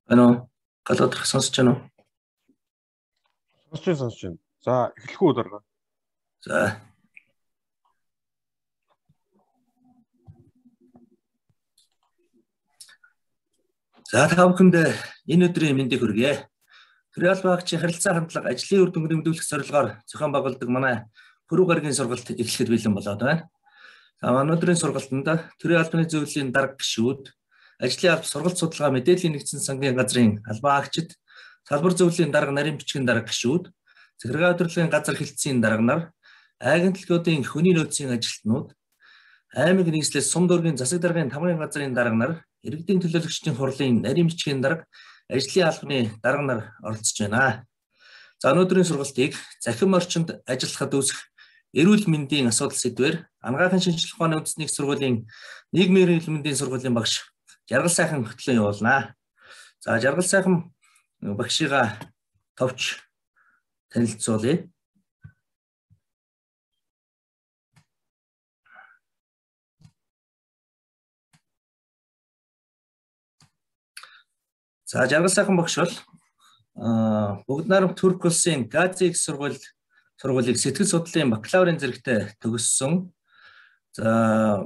Ano, галуудах сонсож байна уу? Сонсож байна. За, эхлэх үү дарга. За. За та бүхэнд энэ өдрийн мэндийг хүргье. Төрийн багчийн харилцаа хандлага ажлын үр дүнг нэмэгдүүлэх зорилгоор зохион байгуулдаг манай Пүрэв гарагийн сургалт эхлэхэд бэлэн болоод байна. За манай өдрийн сургалтанд төрийн албаны зөвлөлийн дарга гишүүд, ажлын алба сургалт судалгаа мэдээллийн нэгдсэн сангийн газрын албан агчид, салбар зөвлөлийн дарга нарийн бичгийн дарга гишүүд, захиргаа удирдлагын газар хэлтсийн дарга нар, агентлагуудын хүний нөөцийн ажилтнууд, аймаг нийслэл сум дүүргийн засаг даргын тамгын газрын дарга нар, иргэдийн төлөөлөгчдийн хурлын нарийн бичгийн дарга, ажлын албаны дарга нар оролцож байна. За өнөөдрийн сургалтыг захин орчинд ажиллахад үүсэх эрүүл мэндийн асуудал сэдвээр анагаахын шинжилгээ ухааны үндэсний их сургуулийн нийгмийн эрүүл мэндийн сургуулийн багш Жаргал сайхан хөтлөн явуулнаа. За Жаргал сайхан багшигаа товч танилцуулъя. За Жаргал сайхан багш бол бүгд найрамд Турк улсын Гази их сургуулийг сэтгэл судлалын бакалаврын зэрэгтээ төгссөн. За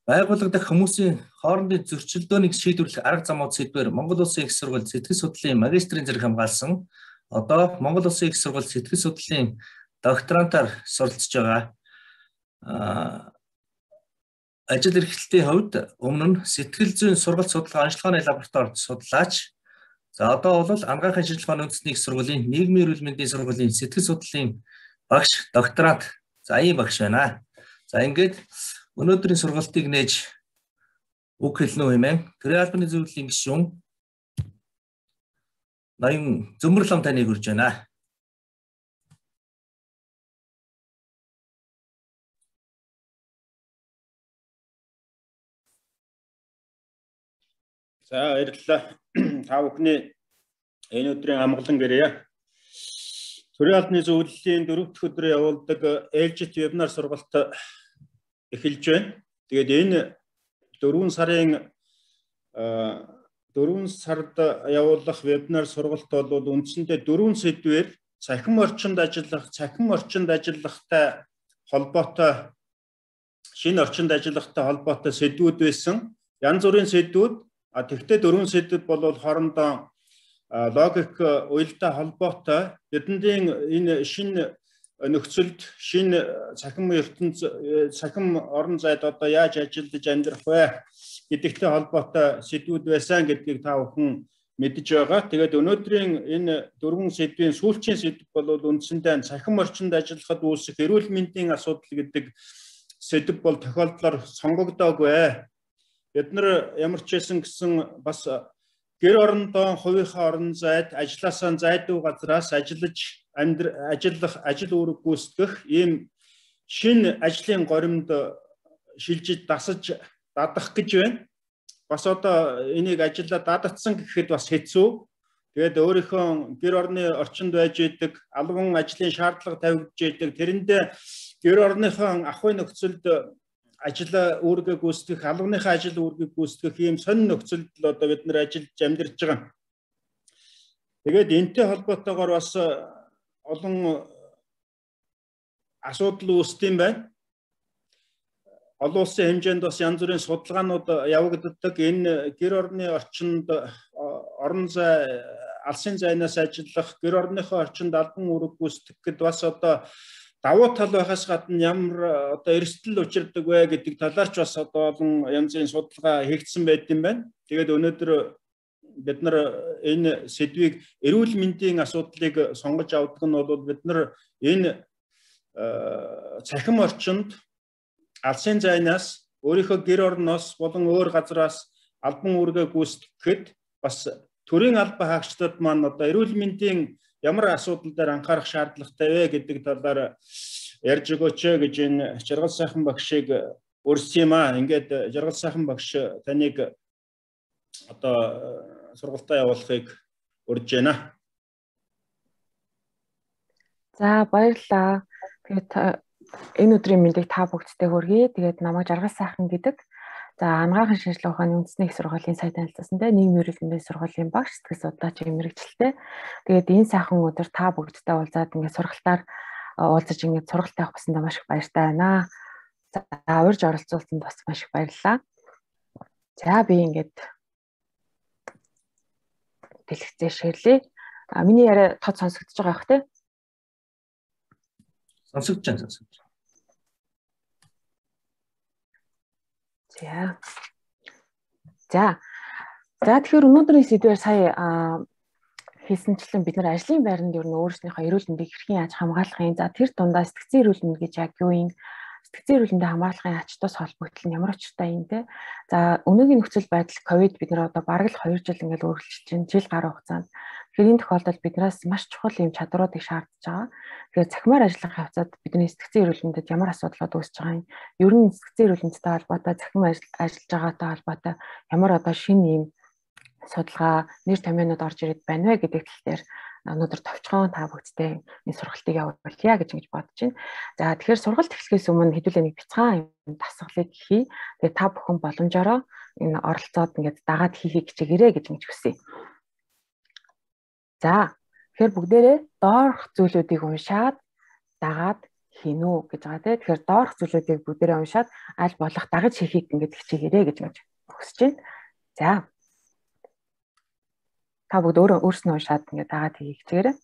байгууллагадах хүмүүсийн хоорондын зөрчилдөөнийг шийдвэрлэх арга замууд сэдвээр Монгол улсын их сургууль сэтгэл судлалын магистрийн зэрэг хамгаалсан. Одоо Монгол улсын их сургууль сэтгэл судлалын докторантаар суралцж байгаа. Ажил эрхлэлтийн хувьд өмнө нь сэтгэл зүйн сургалт судалгаа онцлогооны лабораторид судлаач. За одоо бол анагаахын шинжилгээ ухааны үндэсний их сургуулийн нийгмийн эрүүл мэндийн сургуулийн сэтгэл судлалын багш докторант. За ийм багш байна. За ингээд өнөөдрийн сургалтыг нээж үг хэлнэ үү хэмээн төрийн албаны зөвлөлийн гишүүн Ноён Зөмбөрлөм таныг хүрж байна. За баярлалаа. Та бүхний энэ өдрийн амгалан гэрье. Төрийн албаны зөвлөлийн 4 дахь өдрөө явуулдаг ээлжит вебинар сургалт эхэлж байна. Тэгээд энэ 4 сард явуулах вебинар сургалт бол үндсэндээ 4 сэдвээр цахим орчинд ажиллахтай холбоотой шинэ орчинд ажиллахтай холбоотой сэдвүүд байсан. Янз бүрийн сэдвүүд тэгвэл 4 сэдв бол хоорондоо логик уялдаа холбоотой бидний энэ шинэ нөхцөлд шинэ цахим орон зайд одоо яаж ажиллаж амьдрах вэ гэдэгтэй холбоотой сэдвүүд байсан гэдгийг та бүхэн мэдж байгаа. Тэгээд өнөөдрийн энэ 4 сэдвийн сүүлчийн сэдв бол үндсэндээ цахим орчинд ажиллахад үүсэх эрүүл мэндийн асуудал гэдэг сэдв бол тохиолдлоор сонгогдоогүй. Бид нар ямар ч байсан гэсэн бас гэр орондоо хувийнхаа орон зайд ажилласаа зайдуу газраас ажил үүрэг гүйцэтгэх ийм шинэ ажлын горимд шилжиж дасаж дадах гэж байна. Бас одоо энийг ажиллаа дадагдсан гэхэд бас хэцүү. Тэгээд өөрийнхөө гэр орны орчинд байж идэг албан ажлын шаардлага тавигдж идэг тэрэндээ гэр орныхон ахуй нөхцөлд ажил үүргээ гүйцэтгэх, албаныхаа ажил үүргийг гүйцэтгэх ийм сонин нөхцөлд одоо бид нэр ажиллаж амьдарч байгаа. Тэгээд энэтэй холбоотойгоор бас олон асуудал үүсдэм байна. Олон улсын хэмжээнд бас янз бүрийн судалгаанууд явагддаг. Энэ гэр орны орчинд орон зай, алсын зайнаас ажиллах, гэр орныхоо орчинд албан үүрэг гүйцэтгэхэд бас одоо давуу тал байхаас гадна ямар одоо эрсдэл учирдаг вэ гэдэг талаар ч бас одоо олон янзын судалгаа хийгдсэн байт юм байна. Тэгээд өнөөдөр бид нар энэ сэдвийг эрүүл мэндийн асуудлыг сонгож авдаг нь бол бид нар энэ цахим орчинд алсын зайнаас өөрийнхөө гэр орноос болон өөр газраас албан үүргээ гүйцэтгэхэд бас төрийн албан хаагчдад маань одоо эрүүл мэндийн ямар асуудал дээр анхаарах шаардлагатай вэ гэдэг талаар ярьж өгөөч гэж энэ Жаргал сайхан багшийг урьсан юм аа. Ингээд Жаргал сайхан багш таныг одоо сургалтаа явуулахыг урьж байна. За баярлалаа. Тэгээд энэ өдрийн мэндийг та бүгдтэй хүргэе. Тэгээд намайг Жаргал сайхан гэдэг. За анагаахын шинжилгээ ухааны үндэсний их сургуулийн сая танилцсан те нийгмийн эрүүл мэндийн сургуулийн багш сэтгэл судлаач мэрэгчлээ. Тэгээд энэ сайхан өдөр та бүгдтэй уулзаад ингээд сургалтаар уулзаж ингээд сургалт авах басна маш их баяртай байна. За урьж оролцуулсанд бас маш их баярлалаа. За би ингээд дэлгэцээ ширлээ. Миний яриа тод сонсогдож байгаа бах те? Сонсогдож байна. За тэгэхээр өнөөдрийн сэдвээр сая хэлсэнчлэн бид нар ажлын байранд ер нь өөрсдийнхөө эрүүл мэндийг хэрхэн яаж хамгаалахын за тэр дундаа сэтгцэн эрүүл мэнд гэж яг юу юм сэтгцэн эрүүл мэндийг хамгаалахын ач тус холбогдол нь ямар учиртай юм те. За өнөөгийн нөхцөл байдал ковид бид нар одоо бараг л 2 жил ингээд өөрчлөж чинь жил гаруй хугацаанд тэгэхээр энэ тохиолдолд биднээс маш чухал юм чадруудыг шаардж байгаа. Тэгэхээр цахимаар ажиллах явцад бидний сэтгцэн эрүүл мэндэд ямар асуудлууд үүсэж байгаа юм ер нь сэтгцэн эрүүл мэндтэй холбоотой цахим ажиллаж байгаатай холбоотой ямар одоо шинэ юм судалгаа нэр томьёонууд орж ирээд байна вэ гэдэг тал дээр өнөөдөр товчхон та бүгдтэй энэ сургалтыг явуулъя гэж ингэж бодож байна. За тэгэхээр сургалт эхлэхээс өмнө хэдүүлээ нэг бяцхан дасгалыг хий. Тэгээ та бүхэн боломжоор энэ оролцоод ингээд дагаад хийхийг хичээгээрэй гэж ингэж хүсье. За тэгэхээр бүгдээрээ доорх зүйлүүдийг уншаад дагаад хийнү гэж байгаа тийм. Тэгэхээр доорх зүйлүүдийг бүгдээрээ уншаад аль болох дагаж хийхийг ингээд хичээгээрэй гэж хүсэж байна. За та бүгд өөрснөө уншаад ингээд дагаад хийх хичээгээрэй.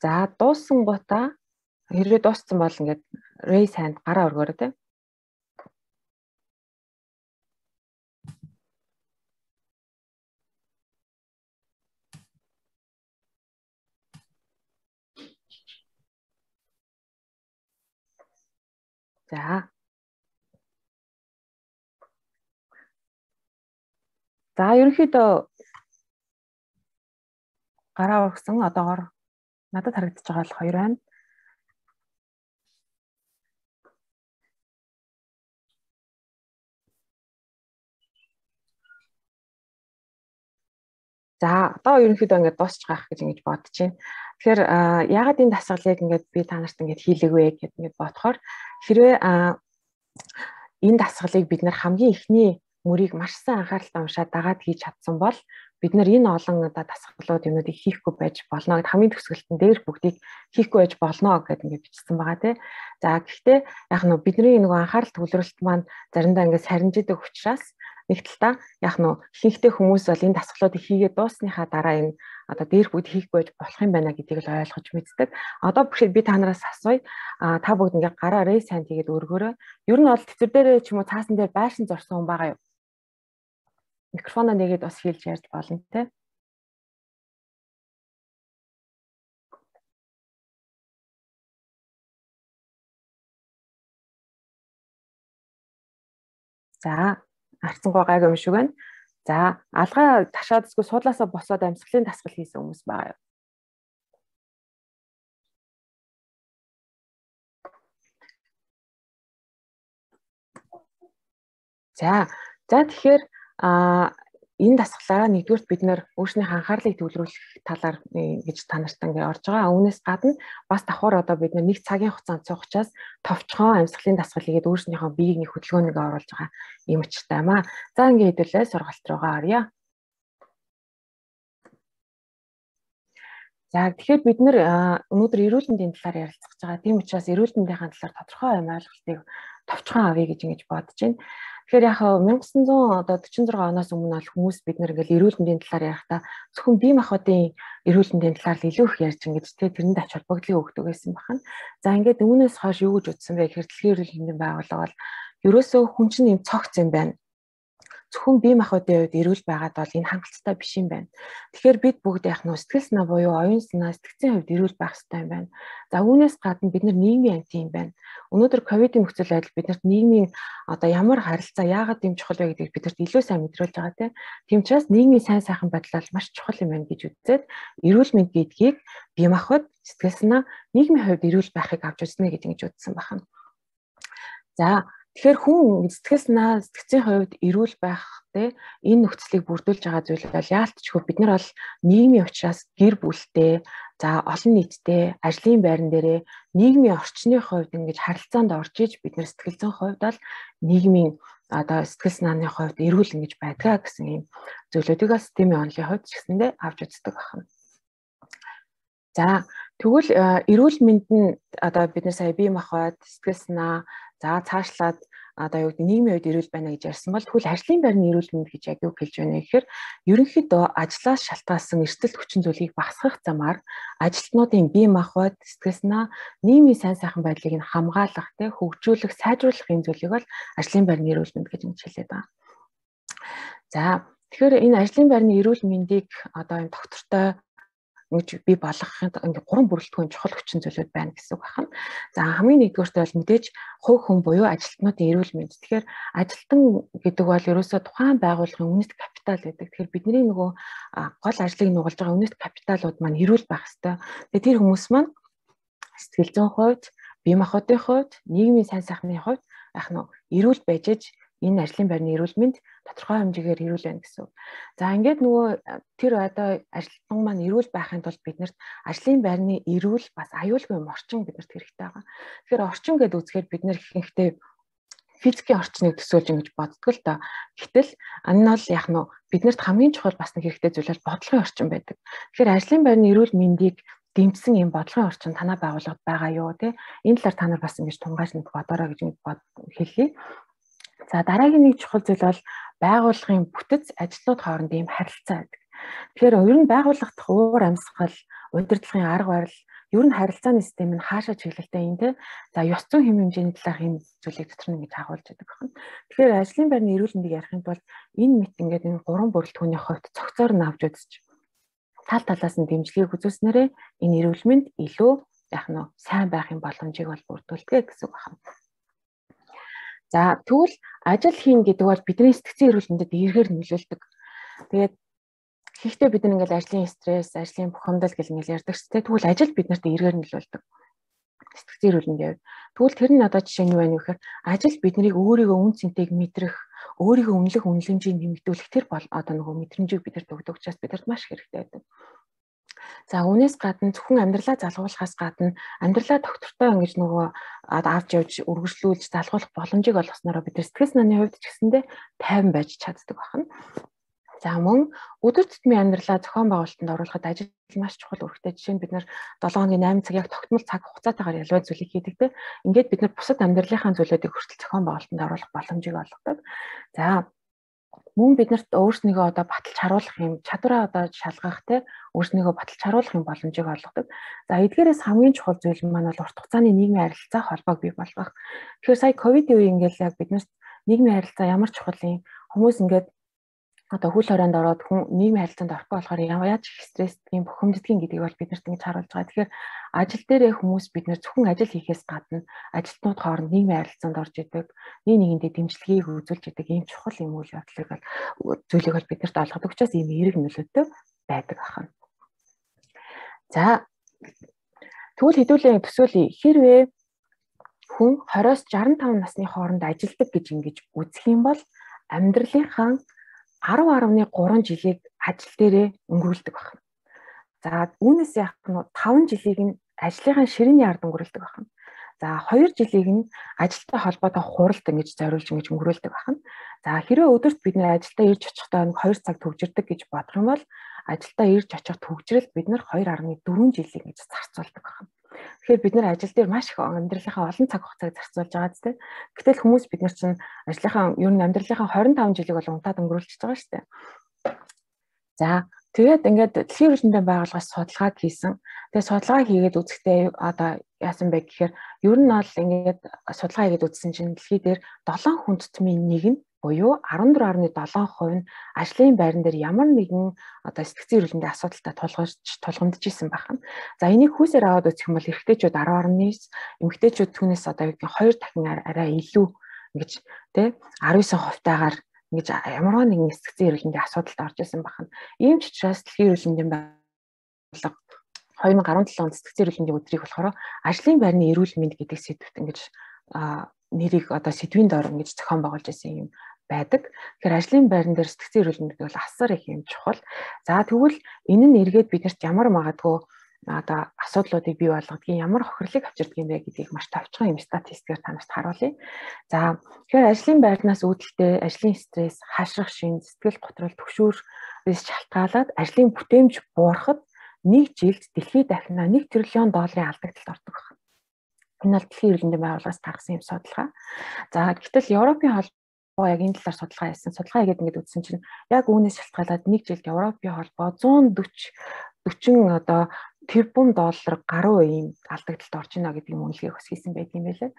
За дууссан гутаа хэрвээ дууссан бол ингээд raise hand гараа өргөөрэй тийм. За ерөнхийдөө гараа өргөсөн одоогоор надад харагдаж байгаа бол 2 байна. За одоо ерөнхийдөө ингээд дуусч байгаа гэж ингэж бодож байна. Тэгэхээр яагаад энэ дасгалыг ингээд би та нарт ингээд хийлэг вэ гэд ингээд бодохоор хэрвээ энэ дасгалыг бид нар хамгийн ихний мөрийг маш сайн анхааралтай уншаад дагаад хийж чадсан бол бид нар энэ олон одоо дасгалууд юмнуудыг хийхгүй байж болно гэд хамгийн төгсгөлтөн дээр бүгдийг хийхгүй байж болно гэд ингээд бичсэн байгаа тий. За гэхдээ яг нь бидний нөгөө анхаарал төвлөрөлт маань заримдаа ингээд сарниждаг учраас нэг талдаа яг нь ихэнхдээ хүмүүс бол энэ дасгалуудыг хийгээд дуусныхаа дараа энэ одоо дээр бүгд хийхгүй байж болох юм байна гэдгийг л ойлгож мэддэг. Одоо би та нараас асууя. Та бүгд ингээд гараа raise hand хийгээд өргөөрэй. Ер нь бол тэтэр дээрээ ч юм уу цаасан дээр байшин зорсон хүн байгаа юу? Микрофоноо нэгээд бас хэлж ярьж болно те. За арцсангаа гайгүй юм шиг байна. За алгаа ташаадсгүй суудлаасаа босоод амьсгалын дасгал хийсэн хүмүүс байгаа юу? За тэгэхээр энэ дасгалаараа нэгдүгürt бид нэр өөрсдийнхээ анхаарлыг төвлөрүүлэх талаар гэж та нарт ингээ орж байгаа. Үүнээс гадна бас давхар одоо бид нэг цагийн хугацаанд цуг учраас товчхон амьсгалын дасгал хийгээд өөрсдийнхөө биеийг нэг хөдөлгөөнийг оруулж байгаа юм учиртай юм аа. За ингээ хэдүүлээ сургалт руугаа оръё. За тэгэхээр бид нэр өнөөдөр эрүүл мэндийн талаар ярилцах гэж байгаа. Тийм учраас эрүүл мэндийн талаар тодорхой ойлголтыг товчхон авъя гэж ингэж бодож байна. Тэгэхээр яг 1946 оноос өмнө бол хүмүүс бид нэр ингээл эрүүл мэндийн талаар ярихдаа зөвхөн бие махбодын эрүүл мэндийн талаар илүү их ярьж ингэж тэрэнд ач холбогдлыг өгдөг байсан байна. За ингээд үүнээс хойш юу гэж утсан бэ гэхээр дэлхийн эрүүл мэндийн байгууллага бол ерөөсөө хүн чинь юм цогц юм байна. зөвхөн бие махбодын хувьд эрүүл байгаад бол энэ хангалттай биш юм байна. Тэгэхээр бид бүгд яг нь сэтгэл санаа буюу оюун санаа, сэтгцийн хувьд эрүүл байх хэрэгтэй юм байна. За үүнээс гадна бид нар нийгмийн амт юм байна. Өнөөдөр ковидын нөхцөл байдал биднэрт нийгмийн одоо ямар харилцаа яагаад юм чухал вэ гэдгийг бидэрт илүү сайн мэдрүүлж байгаа тийм учраас нийгмийн сайн сайхан байдал маш чухал юм байна гэж үзээд эрүүл мэнд гэдгийг бие махбод, сэтгэл санаа, нийгмийн хувьд эрүүл байхыг авч үзнэ гэж ингэж үзсэн байна. За тэгэхээр хүн сэтгэл санаа, сэтгцийн хувьд эрүүл байхтэй энэ нөхцөлийг бүрдүүлж байгаа зүйл бол яалтчгүй бид нар бол нийгмийн учраас гэр бүлтэй, за олон нийттэй, ажлын байран дээрээ нийгмийн орчны хувьд ингэж харилцаанд орж иж бид нар сэтгэл зүйн хувьд бол нийгмийн одоо сэтгэл санааны хувьд эрүүл ингэж байдгаа гэсэн юм зүйлүүдийг системийн онолын хувьд ч гэсэндээ авч үздэг байна. За тэгвэл эрүүл мэнд нь одоо бид нар сая бие махбод, сэтгэл санаа, за цаашлаад одоо юу гэдэг нийгмийн үед эрүүл байна гэж ярьсан бол тэгвэл ажлын байрны эрүүл мэнд гэж яг юу хэлж байна гэхээр ерөнхийдөө ажлаас шалтгаалсан эрсдэл хүчин зүйлийг багасгах замаар ажилтнуудын бие махбод, сэтгэл санаа, нийгмийн сайн сайхан байдлыг нь хамгаалах, хөгжүүлэх, сайжруулах энэ зүйлийг бол ажлын байрны эрүүл мэнд гэж хэлээд байгаа. За тэгэхээр энэ ажлын байрны эрүүл мэндийг одоо энэ доктортой ингэж бий болгохын ингээ 3 бүрэлдэхүүн чухал хүчин зүйлүүд байна гэсэн үг байна. За хамгийн нэгдүгээрт бол мэдээж хувь хүн буюу ажилтнуудын эрүүл мэнд. Тэгэхээр ажилтан гэдэг бол ерөөсөө тухайн байгууллагын үнэт капитал гэдэг. Тэгэхээр бидний нөгөө гол ажлыг нугалж байгаа үнэт капиталууд маань эрүүл байх ёстой. Тэгээ тэр хүмүүс маань сэтгэл зүйн хувьд, бие махбодын хувьд, нийгмийн сайн сайхны хувьд яг нь эрүүл байж аж энэ ажлын байрны эрүүл мэнд тодорхой хэмжээгээр эрүүл байна гэсэн үг. За ингээд нөгөө тэр одоо ажилтан маань эрүүл байхын тулд биднэрт ажлын байрны эрүүл бас аюулгүй юм орчин биднэрт хэрэгтэй байгаа. Тэгэхээр орчин гэдээ үзэхээр бид нэр ихэнхдээ физикийн орчныг төсөөлж ингэж боддог л доо. Гэтэл энэ бол яг нь биднэрт хамгийн чухал бас нэг хэрэгтэй зүйл бол бодлогын орчин байдаг. Тэгэхээр ажлын байрны эрүүл мэндийг дэмжсэн юм бодлогын орчин танай байгууллагад байгаа юу те? Энэ талаар та нар бас ингэж тунгааж нэг бодорой гэж хэлье. За дараагийн нэг чухал зүйл бол байгууллагын бүтэц ажилтнууд хоорондын харилцаа гэдэг. Тэгэхээр ер нь байгууллага дахь уур амьсгал, удирдлагын арга барил, ер нь харилцааны систем нь хаашаа чиглэлтэй юм те. За ёс зүйн хэм хэмжээний талаарх энэ зүйлийг дотор нь гэж агуулж байдаг байна. Тэгэхээр ажлын байрны эрүүл мэндийг ярихын тулд энэ мэт ингээд энэ 3 бүрэлдэхүүний хувьд цогцоор нь авч үзэж тал талаас нь дэмжлэгийг үзүүлснээрээ энэ эрүүл мэнд илүү яг нь сайн байхын боломжийг бол бүрдүүлдэг гэсэн үг байна. За тэгвэл ажил хийн гэдэг бол бидний сэтгцийн эрүүл мэндэд эргээр нөлөөлдөг. Тэгээд хийхдээ бид нэг ингээл ажлын стресс, ажлын бухимдал гэл ингээл ярьдаг ч тэгвэл ажил биднэрт эргээр нөлөөлдөг. Сэтгцийн эрүүл мэндийн. Тэгвэл тэр нь одоо жишээ нь юу вэ гэхээр ажил биднийг өөрийгөө үн цэнтэйг мэдрэх, өөрийгөө үнэлэх үнэлэмжийг нэмэгдүүлэх тэр бол одоо нөгөө мэдрэмжийг бидэрт өгдөг учраас бидэрт маш хэрэгтэй байдаг. За үүнээс гадна зөвхөн амьдралаа залгуулахаас гадна амьдралаа доктортой ингэж нөгөө авч явж үргэлжлүүлж залгуулах боломжийг олгосноор бид сэтгэл санааны хувьд ч гэсэндээ тайван байж чаддаг байна. За мөн өдөр тутмын амьдралаа зохион байгуулалтанд оруулахад ажил маш чухал үүрэгтэй. Жишээ нь бид нар 7 хоногийн 8 цаг яг тогтмол цаг хугацаатайгаар ялваа зүйлийг хийдэг те. Ингээд бид нар бусад амьдралынхаа зүйлүүдийг хүртэл зохион байгуулалтанд оруулах боломжийг олгодог. За мөн биднэрт өөрснийгөө одоо баталж харуулах юм, чадвараа одоо шалгах те, өөрснийгөө баталж харуулах юм боломжийг олгодог. За эдгээрээс хамгийн чухал зүйл маань бол урт хугацааны нийгмийн харилцаа холбоог бий болгох. Тэгэхээр сая ковидын үе ингээл яг биднэрт нийгмийн харилцаа ямар чухал юм, хүмүүс ингээд одоо хөл хорионд ороод хүн нийгмийн харилцаанд орохгүй болохоор яаж их стрессдгийн, бухимддгийн гэдгийг бол биднэрт ингэж харуулж байгаа. Тэгэхээр ажил дээрээ хүмүүс бид нэр зөвхөн ажил хийхээс гадна ажилтнууд хооронд нийгмийн харилцаанд орж идэг, нэг нэгэндээ дэмжлэгийг үзүүлж идэг ийм чухал юм үйл явдлыг бол зүйлийг бол биднэрт олгодог учраас ийм эерэг нөлөөтэй байдаг ахна. За тэгвэл хэдүүлээ төсөөлье. Хэрвээ хүн 20-с 65 насны хооронд ажилдаг гэж ингэж үзэх юм бол амьдралынхаа 10.3 жилийг ажил дээрээ өнгөрүүлдэг байна. За үүнээс яг нь 5 жилийг нь ажлынхаа ширээний ард өнгөрүүлдэг байна. За 2 жилийг нь ажилтай холбоотой хуралд ингэж зориулж ингэж өнгөрүүлдэг байна. За хэрвээ өдөрт бид нэр ажилдаа ирж очихдоо 2 цаг төгжирдэг гэж бодох юм бол ажилдаа ирж очих төгжрэлд бид нэр 2.4 жилийг ингэж зарцуулдаг байна. Тэгэхээр бид нэр ажил дээр маш их амьдралынхаа олон цаг хугацааг зарцуулж байгаа зү. Гэтэл хүмүүс бид нар чинь ажлынхаа ер нь амьдралынхаа 25 жилиг бол унтаад өнгөрүүлчихэж байгаа шүү дээ. За тэгээд ингээд дэлхийн эрүүл мэндийн байгууллагаас судалгааг хийсэн. Тэгээд судалгаа хийгээд үзэхдээ одоо яасан бэ гэхээр ер нь бол ингээд судалгаа хийгээд үзсэн чинь дэлхий дээр 7 хүн тутмын нэг нь буюу 14.7% нь ажлын байран дээр ямар нэгэн одоо сэтгцэн эрүүл мэндийн асуудалтай тулгамдж исэн байна. За энийг хүүсээр аваад үзэх юм бол эрэгтэйчүүд 10.9, эмэгтэйчүүд түүнээс одоо юу гэх 2 дахин арай илүү ингэж тий 19%-тайгаар ингэж ямар нэгэн сэтгцэн эрүүл мэндийн асуудалд орж исэн байна. Ийм ч учраас дэлхийн эрүүл мэндийн байгууллага 2017 онд сэтгцэн эрүүл мэндийн өдрийг болохоор ажлын байрны эрүүл мэнд гэдэг сэдвт ингэж нэрийг одоо сэдвийн доор ингэж зохион байгуулж исэн юм байдаг. Тэгэхээр ажлын байран дээр сэтгцэн эрүүл мэнд бол асар их юм чухал. За тэгвэл энэ нь эргээд биднэрт ямар магадгүй одоо асуудлуудыг бий болгодгийг, ямар хохирлыг авчирдаг юм бэ гэдгийг маш товчхон юм статистикээр танарт харуулъя. За тэгэхээр ажлын байрнаас үүдэлтэй ажлын стресс, хашрах шин, сэтгэл готрол, түгшүүрээс шалтгаалаад ажлын бүтээмж буурахад нэг жилд дэлхийд дахина $1 триллион алдагдлалд ордог байна. Энэ бол дэлхийн эрүүл мэндийн байгууллагаас гаргасан юм судалгаа. За гэтэл Европын холбоо яг энэ талаар судалгаа хийсэн. Судалгаа хийгээд ингээд үзсэн чинь яг үүнээс шалтгаалаад нэг жилд Европын холбоо 140 одоо тэрбум доллар гаруй ийм алдагдлалд орж ийнэ гэдэг юм үнэлгээ хийсэн байт юм байлээ.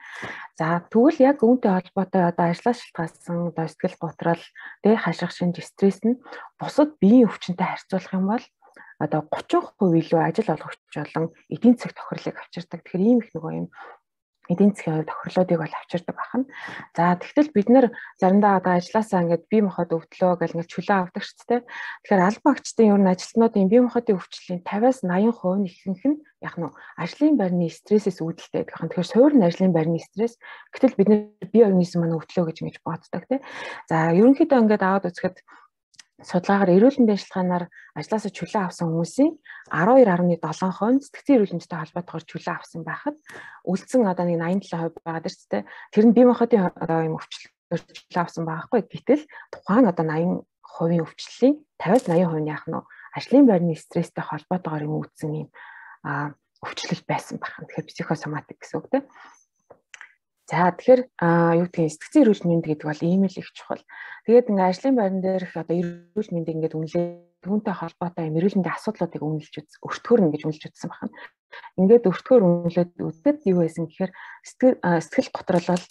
За тэгвэл яг үүнтэй холбоотой одоо ажлаас шалтгаалсан одоо сэтгэл готрол, хашрах шинж, стресс нь бусад биеийн өвчнөд харьцуулах юм бол одоо 30% илүү ажил олгогч болон эдийн засгийн тохирлыг авчирдаг. Тэгэхээр ийм их нөгөө юм эдийн засгийн тохирлуудыг бол авчирдаг байна. За тэгтэл бид нэр заримдаа одоо ажилласаа ингээд бие махбод өвдлөө гэл ингээд чөлөө авдаг ч тийм. Тэгэхээр аль багчдын ер нь ажилтнуудын бие махбодын өвчлөлийн 50-80% нь ихэнх нь яг нь ажлын байрны стрессээс үүдэлтэй байдаг. Тэгэхээр суур нь ажлын байрны стресс. Гэтэл бид нэр бие организм маань өвдлөө гэж ингэж боддог тийм. За ерөнхийдөө ингээд аваад үзэхэд судалгаагаар эрүүл мэндийн ажиллагаанаар ажлаасаа чөлөө авсан хүмүүсийн 12.7% сэтгцэн эрүүл мэндтэй холбоотойгоор чөлөө авсан байхад үлдсэн одоо нэг 87% байгаа дэрч тэ тэр нь бие махбодын одоо юм өвчлөлөөр чөлөө авсан байгаа хгүй. Гэтэл тухайн одоо 80% өвчлөлийн 50-80% нь яах нь ажлын байрны стресстэй холбоотойгоор юм үүдсэн юм өвчлөл байсан байна. Тэгэхээр психосоматик гэсэн үг тэ. За тэгэхээр юу гэдгийг сэтгцэн эрүүл мэнд гэдэг бол ийм л их чухал. Тэгээд ингээ ажлын байран дээрх одоо эрүүл мэндийг ингээд үнэлээ түүнтэй холбоотой юм эрүүл мэндийн асуудлуудыг үнэлж үз, өртгөөр ингэж үнэлж үзсэн байна. Ингээд өртгөөр үнэлээд үзээд юу байсан гэхээр сэтгэл готрол бол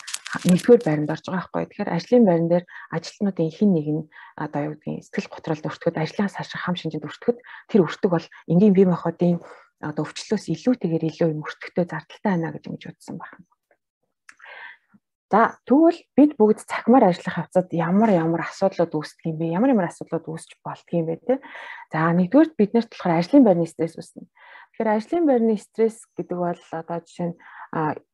нэгдүгээр байранд орж байгаа байхгүй. Тэгэхээр ажлын байран дээр ажилтнуудын хэн нэг нь одоо юу гэдгийг сэтгэл готролд өртгөхөд, ажлаас хашрах хам шинжэд өртгөхөд тэр өртөг бол энгийн бие махбодын одоо өвчлөөс илүүтэйгээр илүү юм өртөхтэй зардалтай байна гэж ингэж үзсэн байна. За тэгвэл бид бүгд цахимаар ажиллах хавцад ямар асуудлууд үүсдэг юм бэ? Ямар асуудлууд үүсч болдго юм бэ те? За нэгдүгээр биднэрт болохоор ажлын байрны стресс үүснэ. Тэгэхээр ажлын байрны стресс гэдэг бол одоо жишээ нь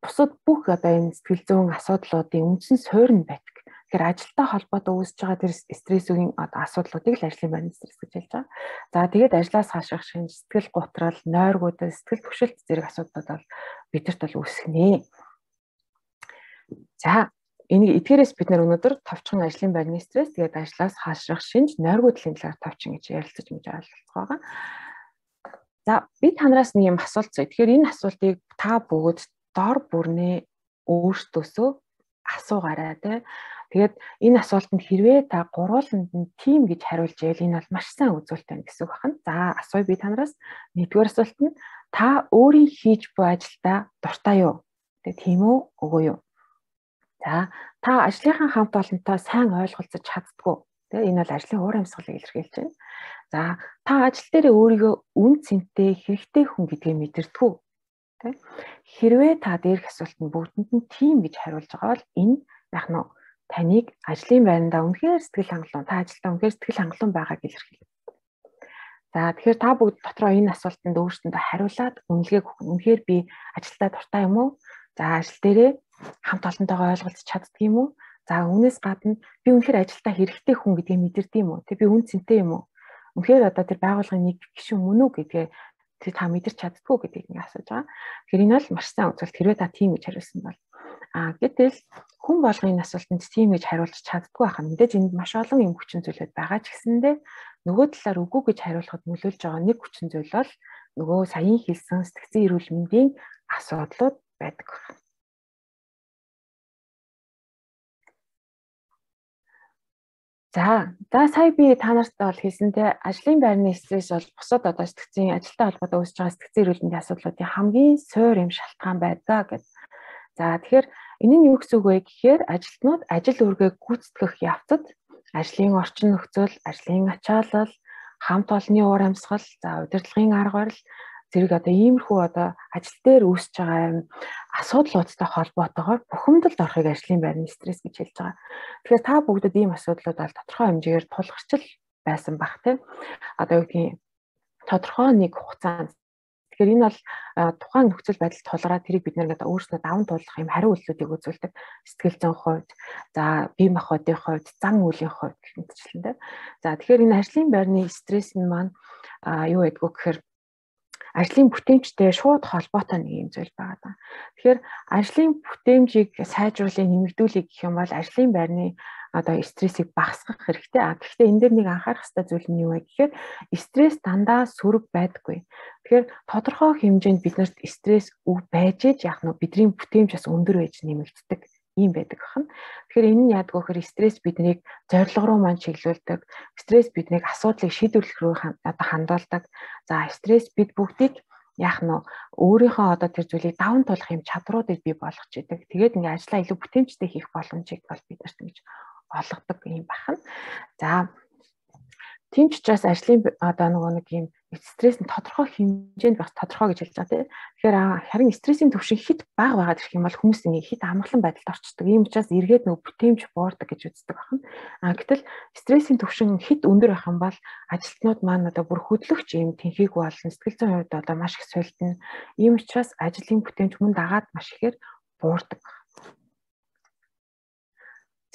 бусад бүх одоо энэ сэтгэл зүйн асуудлуудын үндсэн суурь нь байдаг. Тэгэхээр ажилтай холбоотой үүсэж байгаа тэр стрессийн асуудлуудыг л ажлын байрны стресс гэж хэлж байгаа. За тэгээд ажлаас хашрах шинж, сэтгэл готрол, нойргуудад сэтгэл түгшилт зэрэг асуудлууд бол бидэрт бол үүснэ. За энийг эдгээрээс бид нэр өнөөдөр товчхон ажлын байрны стресс тэгээд ажлаас хашрах шинж, нойргуудлын талаар товчхон гэж ярилцаж мэдэж ойлгох байгаа. За би танараас нэг юм асуулт зөө. Тэгэхээр энэ асуултыг та бүгд дор бүрнээ өөртөөсөө асуугаарай тий. Тэгээд энэ асуултанд хэрвээ та гурвууланд нь тийм гэж хариулж ял энэ бол маш сайн үзүүлэлт байна гэсэн үг байна. За асууя би танараас. Нэгдүгээр асуулт нь та өөрийн хийж буй ажилдаа дуртай юу? Тэгээд тийм үү, үгүй юу? За та ажлынхаа хамт олонтой сайн ойлголцож чаддгүй. Тэгээ энэ бол ажлын уур амьсгалыг илэрхийлж байна. За та ажил дээр өөрийгөө үн цэнтэй хэрэгтэй хүн гэдгийг мэдэрдэггүй. Тэ? Хэрвээ та дээрх асуултанд бүгдэнд нь тийм гэж хариулж байгаа бол энэ яг нь таныг ажлын байрандаа үнэхээр сэтгэл хангалуун, та ажилдаа үнэхээр сэтгэл хангалуун байгааг илэрхийлдэг. За тэгэхээр та бүгд дотроо энэ асуултанд өөрсдөндөө хариулаад үнэлгээг өгөх. Үнэхээр би ажилдаа дуртай юм уу? За ажил дээрээ хамт олонтойгоо ойлголцож чаддаг юм уу? За үүнээс гадна би үнэхээр ажилдаа хэрэгтэй хүн гэдгийг мэдэрдэг юм уу? Тэг би үн цэнтэй юм уу? Үнэхээр одоо тэр байгууллагын нэг гишүүн мөн үү гэдгээ та мэдэрч чаддгүй гэдгийг нэг асууж байгаа. Тэгэхээр энэ бол маш сайн үзүүлэлт. Хэрвээ та тийм гэж хариулсан бол гэтэл хүн болгоны энэ асуултанд тийм гэж хариулж чаддгүй байхад мэдээж энд маш олон юм хүчин зүйлүүд байгаа ч гэсэндээ нөгөө талаар үгүй гэж хариулахад нөлөөлж байгаа нэг хүчин зүйл бол нөгөө саяхан хэлсэн сэтгцэн эрүүл мэндийн асуудлууд байдаг. За сая би та нартай бол хэлсэнтэй ажлын байрны стресс бол бусад одоо сэтгцийн ажилтай холбоотой үүсэж байгаа сэтгцэн эрүүл мэндийн асуудлуудын хамгийн суур юм шалтгаан байдаг гэдэг. За тэгэхээр энэ нь юу гэсэн үг вэ гэхээр ажилтнууд ажил үргээ гүйцэтгэх явцад ажлын орчин нөхцөл, ажлын ачаалал, хамт олонны уур амьсгал, за удирдлагын арга барил зэрэг одоо иймэрхүү одоо ажил дээр үүсэж байгаа асуудлуудтай холбоотойгоор бухимдалд орохыг ажлын байрны стресс гэж хэлж байгаа. Тэгэхээр та бүгдд ийм асуудлууд бол тодорхой хэмжээгээр тулгарчил байсан бах тийм. Одоо юу гэдгийг тодорхой нэг хугацаанд. Тэгэхээр энэ бол тухайн нөхцөл байдал тулгараад тэрийг бид нэр одоо өөрснөө даван туулах юм хариу үйлдэлүүдийг үзүүлдэг. Сэтгэл зүйн хувьд, за бие махбодын хувьд, зан үйлийн хувьд гэх мэтчлэн. За тэгэхээр энэ ажлын байрны стресс нь маань юу гэдгүү гэхээр ажлын бүтээмжтэй шууд холбоотой нэг юм зүйл байгаа. Тэгэхээр ажлын бүтээмжийг сайжруулах, нэмэгдүүлэх гэх юм бол ажлын байрны одоо стрессийг багасгах хэрэгтэй. Гэхдээ энэ дээр нэг анхаарах ёстой зүйл нь юу вэ гэхээр стресс дандаа сөрөг байдаггүй. Тэгэхээр тодорхой хэмжээнд биднэрт стресс байж яах нь бидний бүтээмж бас өндөр байж нэмэгддэг юм байдаг бахан. Тэгэхээр энэ нь яадаг вэ гэхээр стресс биднийг зорилго руу маань чиглүүлдэг. Стресс биднийг асуудлыг шийдвэрлэх рүү хандуулдаг. За стресс бид бүгдийг яах нь өөрийнхөө одоо тэр зүйлийг даван туулах юм чадруудыг бий болгож идэг. Тэгээд ингээ ажлаа илүү бүтээмжтэй хийх боломжийг бол биднэрт ингэж олгодог юм бахан. За тийм ч учраас ажлын одоо нэг юм стресс нь тодорхой хэмжээнд бас тодорхой гэж хэлж байгаа тийм. Тэгэхээр харин стрессийн түвшин хит бага байгаад ирэх юм бол хүмүүс ингээ хит амгалан байдалд орчдөг. Ийм учраас эргээд нөгөө бүтээмж буурдаг гэж үздэг бахан. Гэтэл стрессийн түвшин хит өндөр байх юм бол ажилтнууд маань одоо бүр хөдлөгч юм тэнхийг болно. Сэтгэл зүйн хувьд одоо маш их солилдно. Ийм учраас ажлын бүтээмж мөн дагаад маш ихээр буурдаг.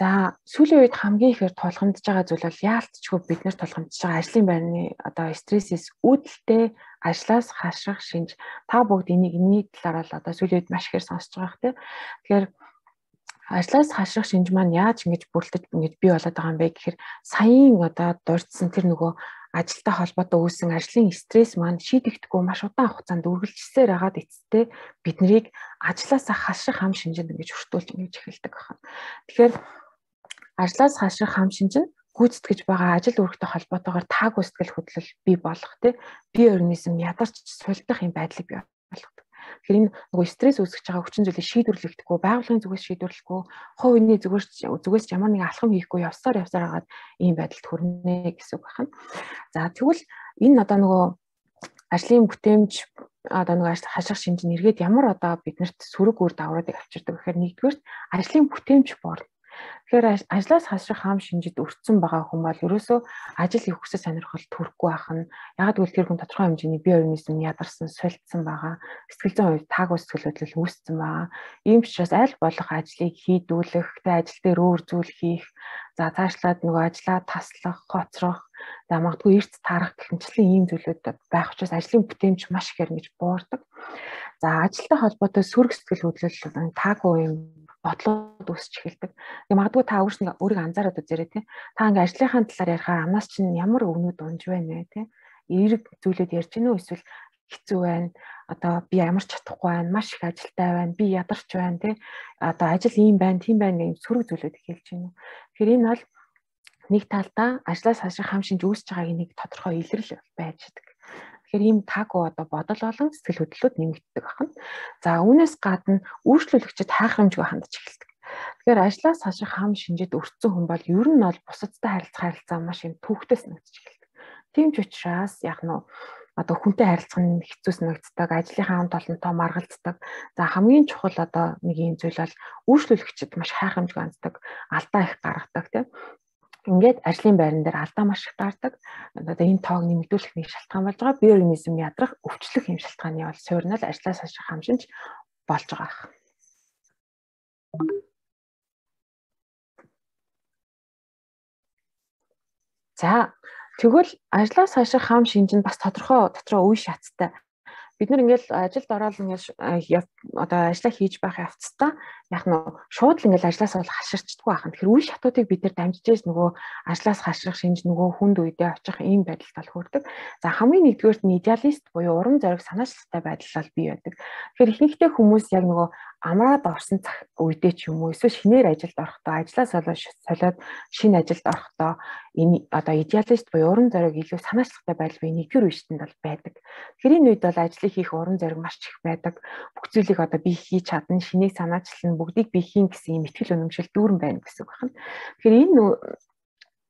За сүүлийн үед хамгийн ихээр тулгамдж байгаа зүйл бол яалтчгүй бид нар тулгамдж байгаа ажлын байрны одоо стрессээс үүдэлтэй ажлаас хашрах шинж. Та бүгд энэний талаар бол одоо сүүлийн үед маш ихээр сонсож байгаа хэрэг. Тэгэхээр ажлаас хашрах шинж маань яаж ингэж бүрэлдэж ингэж бий болоод байгаа юм бэ гэхээр саяын одоо дурдсан тэр нөгөө ажилтай холбоотой үүсэн ажлын стресс маань шийдэгдэхгүй маш удаан хугацаанд үргэлжилсээр хагаад эцэстээ биднийг ажлаасаа хашрах хам шинжэнд ингэж өртүүлж ингэж эхэлдэг байна. Тэгэхээр ажлаас хашрах хам шинж нь гүйцэтгэж байгаа ажил үүрэгтэй холбоотойгоор таагүй сэтгэл хөдлөл бий болох бие организм ядарч сулдах юм байдлыг бий болгодог. Тэгэхээр энэ нөгөө стресс үүсгэж байгаа хүчин зүйлийг шийдвэрлэхдэггүй, байгууллагын зүгээс шийдвэрлэхгүй, хувь хүний зүгээс ямар нэг алхам хийхгүй явсаар хагаад ийм байдалд хүрнэ гэсэн үг байна. За тэгвэл энэ одоо нөгөө ажлын бүтээмж одоо нөгөө хашрах шинж нь эргээд ямар одоо биднэрт сөрөг үр дагавруудыг авчирдаг гэхээр нэгдүгээр ажлын бүтээмж буурна. Тэгэхээр ажлаас хашрах хам шинжид өртсөн байгаа хүн бол ерөөсөө ажил хийх хүсэл сонирхол төрөхгүй байх нь яг гэвэл тэр хүн тодорхой хэмжээний бие организм ядарсан, сулдсан байгаа, сэтгэл зүйн хувьд таагүй сэтгэл хөдлөл үүссэн байгаа. Ийм ч учраас аль болох ажлыг хийдүүлэх, ажил дээр өөр зүйл хийх, за цаашлаад нөгөө ажлаа таслах, хоцрох, за магадгүй эрт тарах гэх мэтлэн ийм зүйлүүд байх учраас ажлын бүтээмж маш ихээр ингэж буурдаг. За ажилтай холбоотой сөрөг сэтгэл хөдлөл таагүй юм бодлоод үүсч эхэлдэг. Тэгээ магадгүй та өөрийгөө анзаараад үзээрэй тий. Та ингээ ажлынхаа талаар ярихаар амнаас чинь ямар өвнүүд унж байна тий. Эерэг зүйлүүд ярьж гинөө эсвэл хэцүү байна. Одоо би ямар ч чадахгүй байна. Маш их ажилтай байна. Би ядарч байна тий. Одоо ажил ийм байна, тийм байна гэх сөрөг зүйлүүд хэлж гинөө. Тэгэхээр энэ бол нэг талдаа ажлаас хашрах хам шинж үүсэж байгааг нэг тодорхой илрэл байж байгаа. Тэгэхээр ийм таагүй одоо бодол болон сэтгэл хөдлөлүүд нэмэгддэг байна. За үүнээс гадна үйлчлүүлэгчид хайхрамжгүй хандж эхэлдэг. Тэгэхээр ажлаас хашрах хам шинжэд өртсөн хүн бол ер нь бол бусадтай харилцаа маш юм төвхтэй санагдаж эхэлдэг. Тийм ч учраас яг нь одоо хүнтэй харилцах нь хэцүү санагддаг, ажлынхаа хамт олонтой маргалддаг. За хамгийн чухал одоо нэг юм зүйл бол үйлчлүүлэгчид маш хайхрамжгүй ханддаг, алдаа их гаргадаг тийм. Ингээд ажлын байран дээр алдаа маш их гардаг. Одоо энэ тоог нэмэгдүүлэх нэг шалтгаан болж байгаа. Бие организм ядрах, өвчлөх юм шалтгааны бол суурнал ажлаас хашрах хам шинж болж байгаа. За тэгвэл ажлаас хашрах хам шинж нь бас тодорхой үе шаттай. Бид нар ингээл ажилд ороод ингээл одоо ажиллаа хийж байх явцдаа яг нь шууд л ингээл ажлаас бол хаширчдаггүй байна. Тэгэхээр үе шатуудыг бид нар дамжижээс нөгөө ажлаас хашрах шинж нөгөө хүнд үедээ очих ийм байдалд бол хүрдэг. За хамгийн нэгдүгээрт нь идеалист буюу урам зориг санаачлалтай байдал бол бий байдаг. Тэгэхээр ихэнхдээ хүмүүс яг нөгөө амраад орсон үедээ ч юм уу эсвэл шинээр ажилд орохдоо ажлаас солиод шинэ ажилд орохдоо энэ одоо идеалист буюу уран зориг илүү санаачлагтай байдал буюу нэгдүгээр үеийнтэнд бол байдаг. Тэгэхээр энэ үед бол ажлыг хийх уран зориг маш их байдаг. Бүх зүйлийг одоо би хийж чадна, шинийг санаачлан бүгдийг би хийн гэсэн юм итгэл үнэмшил дүүрэн байна гэсэн үг байна. Тэгэхээр энэ